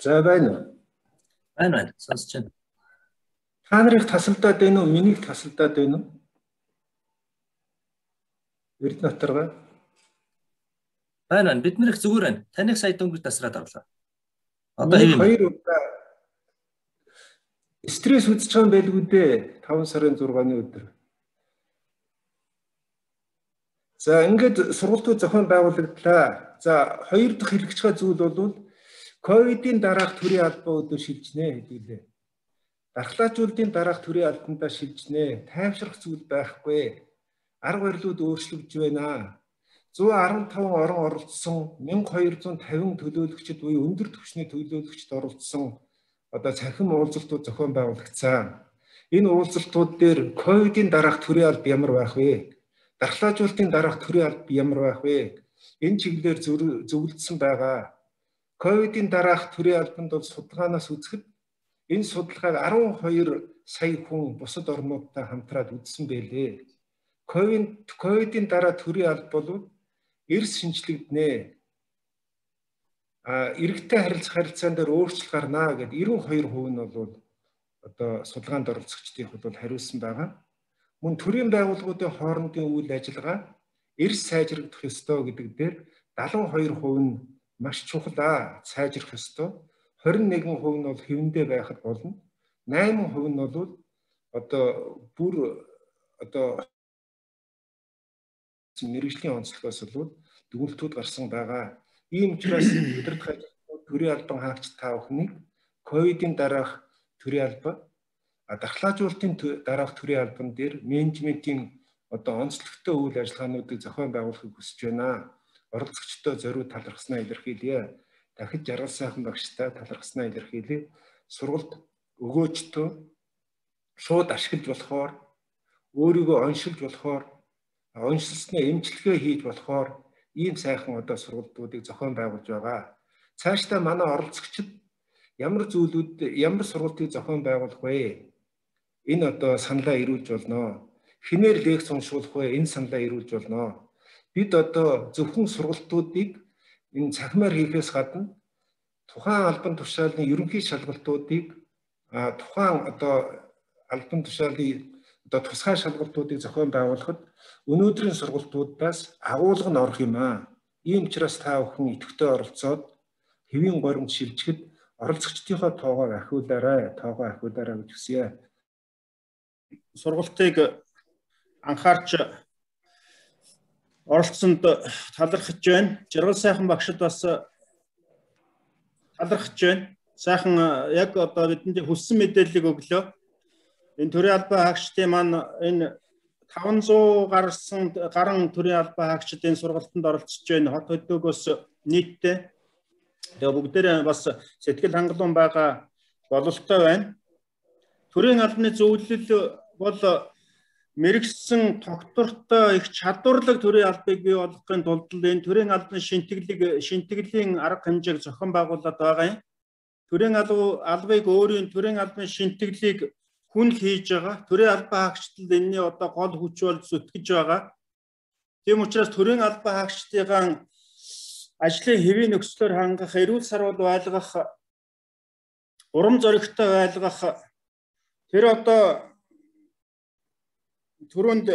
За байна. Байна. Сонсож байна. Та нарыг тасалдаад байна уу? Миний тасалдаад байна уу? Эрдэнэт дарга. Байна. Бид нэр их зүгээр байна. Таныг сая дөнгөж тасраад орлоо. Одоо хэвэн. Хоёр удаа стресс үзэж байгаа юм байлгүй дээ. 5 сарын 6-ны өдөр. За ингээд сургалтууд зохион байгуулагдлаа. За хоёр дахь хэрэгж байгаа зүйл бол ковидын дараах төрийн албан өдөр шилжнэ хэдүүлээ. Дархлаажуулалтын дараах төрийн албандаа шилжнэ. Тайвшрах зүйл байхгүй. Арга барилууд өөрчлөгдөж байна. 115 орон оролцсон 1250 төлөөлөгчд буюу өндөр түвшний төлөөлөгчд оролцсон одоо цахим уулзалтууд зохион байгуулагдсан. Энэ уулзалтууд дээр ковидын дараах төрийн алба ямар байх вэ? Дархлаажуулалтын дараах төрийн алба ямар байх вэ? Энэ чиглэлээр зөвлөдсөн байгаа. Ковидын дараах төрийн албанд бол судалгаанаас үзэхэд энэ судалгааг 12 сая хүн бусад орнуудтай хамтраад үзсэн байлээ. Ковидын дараа төрийн алба бол эрс шинжлэгдэнэ. Иргэдтэй харилцаан дээр өөрчлөлт гарна гэд 92% нь бол одоо судалгаанд оролцогчдын хувьд хариулсан байгаа. Мөн төрийн байгууллагуудын хоорондын үйл ажиллагаа эрс сайжрагдах ёстой гэдэг дээр 72% нь маш чухал сайжрах ёстой. 21% нь бол хэвэндээ байхад болно. 8% нь бол одоо бүр одоо мэргэжлийн онцлогоос бол дүгнэлтүүд гарсан байгаа. Ийм учраас удирдах ажилтнууд төрийн албан хаагч та бүхнийг ковидын дараах төрийн алба, дархлаажуулалтын дараах төрийн албан дээр менежментийн одоо онцлогтой үйл ажиллагаануудыг зохион байгуулахыг хүсэж байна. Оролцогчдоо зориуд талархснаа илэрхийлье. Дахид жаргал сайхан багштай талархснаа илэрхийлье. Сургалт өгөөчтөө шууд ашиглаж болохоор, өөрийгөө оншилж болохоор, оншилснаа эмчилгээ хийж болохоор ийм сайхан одоо сургалтуудыг зохион байгуулж байгаа. Цаашдаа манай оролцогчид ямар сургалтыг зохион байгуулах вэ? Энэ одоо саналаа ирүүлж болно. Хинээр лекц уншуулах вэ? Энэ саналаа ирүүлж болно. Бид одоо зөвхөн сургалтуудыг энэ цахимаар хийхээс гадна тухайн албан тушаалын ерөнхий шалгалтуудыг тухайн одоо албан тушаалын одоо тусгай шалгалтуудыг зохион байгуулахад өнөөдрийн сургалтуудаас агуулга нь орох юм аа. Ийм учраас та бүхэн идэвхтэй оролцоод хэвийн горимд шилжихэд оролцогчдийнхоо тоогоо ахиулаарай гэж хүсье. Сургалтыг анхаарч оролцсонд талархаж байна. Жаргал сайхан багшид бас талархаж байна. Сайхан яг одоо бидэнд хүссэн мэдээллийг өглөө. Энэ төрийн албан хаагчдын маань энэ 500 гарсан төрийн албан хаагчид энэ сургалтанд оролцож байна. Хот хөдөөс нийтдээ. Тэгээ бүгдээрээ бас сэтгэл хангалуун байгаа бололтой байна. Төрийн албаны зөвлөл бол мэрэгсэн тогтвортой их чадварлаг төрийн албыг бий болгохын тулд энэ төрийн албаны шинтгэлийн арга хэмжээг зохион байгуулад байгаа юм. Төрийн албыг өөрийн төрийн албаны шинтгэлийг хүн хийж байгаа. Төрийн албан хаагчдад энэний одоо гол хүч болж зүтгэж байгаа. Тийм учраас төрийн албан хаагчдын ажлын хэвийн нөхцлөөр хангах, эрүүл сарвал байлгах, урам зоригтой байлгах тэр одоо түрүүнд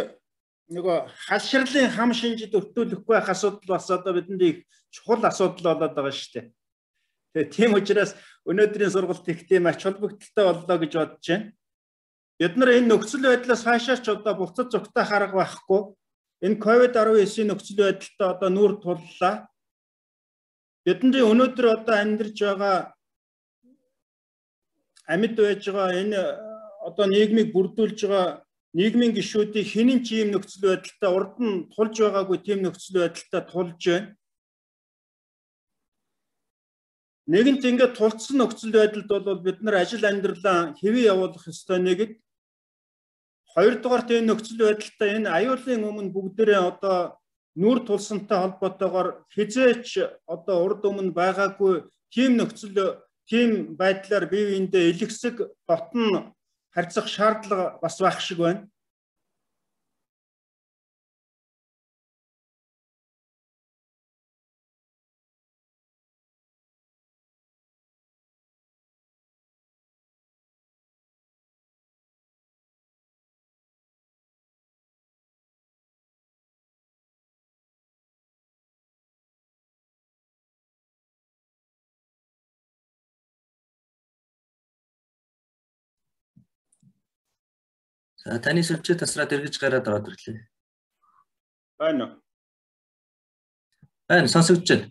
нөгөө халширлын хам шинжид өртүүлэхгүй байх асуудал бас одоо бидэнд их чухал асуудал болоод байгаа шүү дээ. Тэгээ тийм учраас өнөөдрийн сургалт их тийм ач холбогдолтой боллоо гэж бодож байна. Бид нар энэ нөхцөл байдлаас хаашаач одоо буцаж зүгтээ харах байхгүй. Энэ COVID-19-ийн нөхцөл байдалтай одоо нүүр туллаа. Бидний өнөөдөр одоо амьдарч байгаа амьд байж байгаа энэ одоо нийгмийг бүрдүүлж байгаа нийгмийн гишүүдийг хинэн ч ийм нөхцөл байдалтай урд нь тулж байгаагүй тийм нөхцөл байдалтай тулж байна. Нэгэнт ингээд тулцсан нөхцөл байдалд бол бид нар ажил амьдралаа хэвээ явуулах ёстой нэгэд. Хоёрдугаарт энэ нөхцөл байдалтай энэ аюулын өмнө бүгдээрээ одоо нүүр тулсантай холбоотойгоор хизээч одоо урд өмнө байгаагүй тийм нөхцөл тийм байдлаар бие биендээ илгэсэг дотн харьцах шаардлага бас байх шиг байна. За таны сүлжээ тасраад эргэж гараад ороод ирлээ. Байна уу? Байна, сонсогдож байна.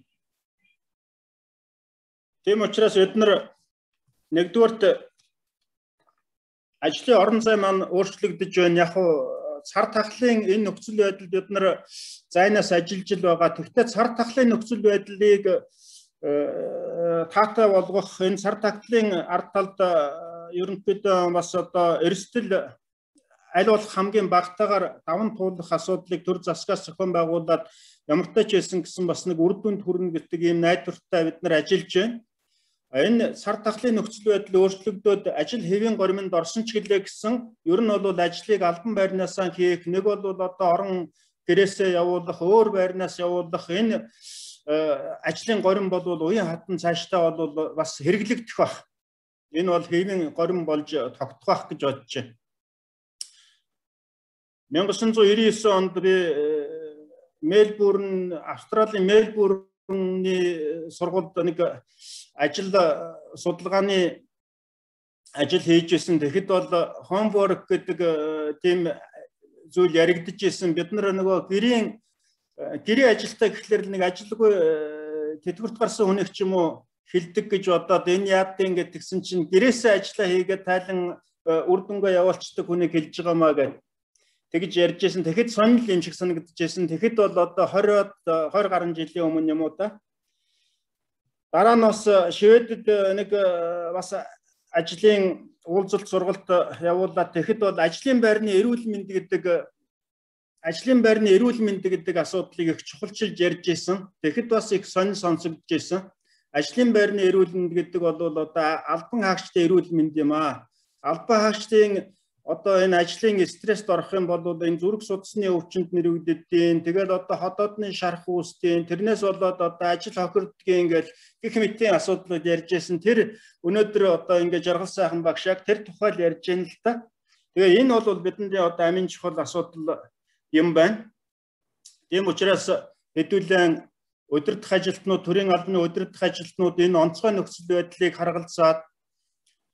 Тийм учраас бид нар нэгдүгээрт ажлын орон зай маань өөрчлөгдөж байна. Яг уу цар тахлын энэ нөхцөл байдалд бид нар зайнаас ажиллаж байгаа. Тэгвэл цар тахлын нөхцөл байдлыг таатай болгох энэ цар тахлын ард талд ерөнхийдөө бас одоо эрсдэл аль болох хамгийн багтаагаар даван туулах асуудлыг төр засгаас зохион байгуулад ямартай ч байсан гэсэн бас нэг үр дүнд хүрнэ гэдэг ийм найдвартай бид нар ажиллаж байна. Энэ цар тахлын нөхцөл байдал өөрчлөгдөөд ажил хэвийн горимд орсон ч гэлээ гэсэн ер нь бол ажлыг албан байрнаасаа хийх, нэг бол одоо орон гэрээсээ явуулах, өөр байрнаас явуулах энэ ажлын горим бол уян хатан цаашдаа бол бас хэрэглэгдэх баг. Энэ бол хэвийн горим болж тогтох гэж бодож байна. 1999 онд би Мельбурн, Австралийн Мельбурны сургуульд нэг ажил судалгааны ажил хийж байсан. Тэгэхэд бол homework гэдэг тийм зүйл яригдж байсан. Бид нар нөгөө гэрээ ажилтаа гэхлээр нэг ажилгүй тэтгэврт гарсан хүнийг ч юм уу хилдэг гэж бодоод энэ яадын гэдгсэн чинь гэрээсээ ажиллаа хийгээд тайлан үр дүнгээ явуулцдаг хүнийг хэлж байгаамаа гэж тэгж ярьж байсан. Тэгэхэд сонирхол юм шиг санагдаж байсан. Тэгэхэд бол одоо 20 гаруй жилийн өмнө юм уу та. Дараа нь бас Шведэд нэг бас ажлын уулзалт сургалт явуулаад тэгэхэд бол ажлын байрны эрүүл мэнд гэдэг асуудлыг их чухалчилж ярьж байсан. Тэгэхэд бас их сонсогдож байсан. Ажлын байрны эрүүл мэнд гэдэг бол одоо албан хаагчдын эрүүл мэнд юм аа. Албан хаагчдын одоо энэ ажлын стресст орох юм бол энэ зүрх судасны өвчнөд нэрвэгддیں۔ Тэгээд одоо ходоодны шарах үүсдیں۔ Тэрнээс болоод одоо ажил хохирдгийн ингээл гэх мэтийн асуудлууд ярьжсэн. Тэр өнөөдөр одоо ингээд жаргал сайхан багш яг тэр тухай л ярьж байна л да. Тэгээ энэ бол бидний одоо амин чухал асуудал юм байна. Тийм учраас хэдүүлэн удирдах ажилтнууд, төрийн албаны удирдах ажилтнууд энэ онцгой нөхцөл байдлыг харгалзаад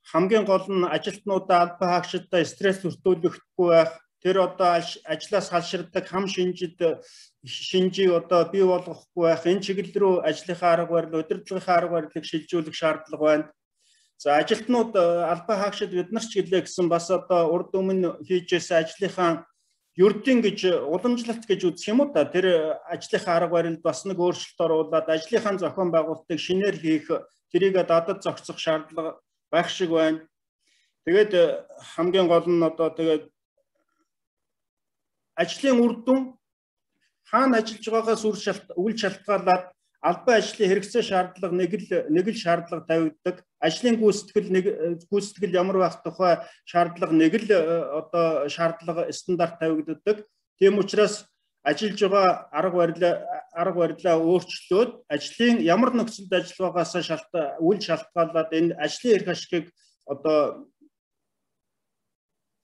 хамгийн гол нь ажилтнуудаа албан хаагчдаа стресс өртөөлөхгүй байх. Тэр одоо ажлаас халширдаг хам шинжийг одоо бий болгохгүй байх. Энэ чиглэл рүү ажлынхаа арга барил, удирдлагынхаа арга барилыг шилжүүлэх шаардлага байна. За ажилтнууд албан хаагчид бид нар ч гэлээ гэсэн бас одоо урд өмнө хийжсэн ажлынхаа ердийн гэж уламжлалт гэж үзэх юм уу та. Тэр ажлынхаа арга барилд бас нэг өөрчлөлт оруулаад ажлынхаа зохион байгуулалтыг шинээр хийх, тэрийг дадад зохицох шаардлага байх шиг байна. Тэгээд хамгийн гол нь одоо тэгээд ажлын үр дүн хаана ажиллаж байгаагаас үл шалтгаалаад албан ажлын хэрэгцээ шаардлага нэг л шаардлага тавигддаг. Ажлын гүйцэтгэл ямар байх тухай шаардлага нэг л одоо шаардлага стандарт тавигддаг. Тийм учраас ажиллаж байгаа арга барилаа өөрчлөөд ажлын ямар нөхцөлд ажиллах байгаас үл шалтгаалаад энэ ажлын эрх ашигыг одоо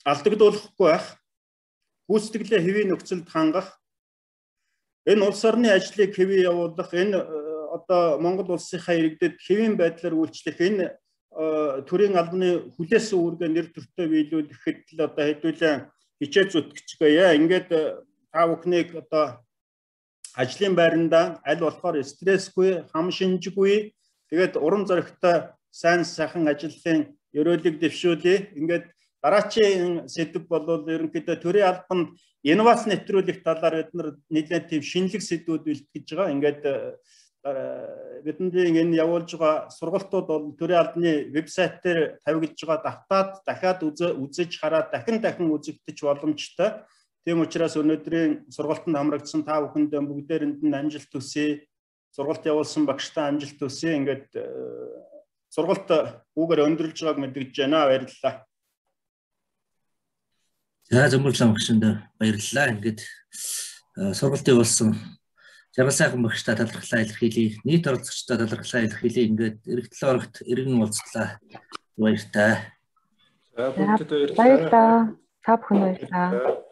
алдагдуулахгүй байх, гүйцэтгэлээ хэвийн нөхцөлд хангах, энэ улс орны ажлыг хэвээ явуулах, энэ одоо Монгол улсынхаа иргэдэд хэвийн байдлаар үйлчлэх, энэ төрийн албаны хүлээсэн үүргээ нэр төртөө биелүүлэхэд л одоо хэдүүлэн хичээл зүтгэцгээе. Ингээд та бүхнийг одоо ажлын байранда аль болохоор стрессгүй, хам шинжгүй, тэгээд урам зоригтой сайн сайхан ажлын ерөөлийг дэвшүүлье. Ингээд дараачийн сэдв бол ерөнхийдөө төрийн албанд инновац нэвтрүүлэх талаар бид нар нэлээд тийм шинэлэг сэдвүүд бэлтгэж байгаа. Ингээд бидний энэ явуулж байгаа сургалтууд бол төрийн албаны вебсайт дээр тавигдж байгаа давтаад дахиад үзэж хараад дахин үзэгдэж боломжтой. Тийм учраас өнөөдрийн сургалтанд хамрагдсан та бүхэндээ бүгдээрэнд нь амжилт хүсье. Сургалт явуулсан багштай амжилт хүсье. Ингээд сургалт үүгээр өндөрлж байгааг мэдгэж байна. Баярлалаа. За зөмбөрлөн багшинд баярлалаа. Ингээд сургалт явуулсан жаргал сайхан багштай талархлаа илэрхийлье. Нийт оролцогчдод талархлаа илэрхийлье. Ингээд эргэтл орогт иргэн уулзлаа. Баяртай. За бүгдэд баярлалаа. Та бүхэнд баярлалаа.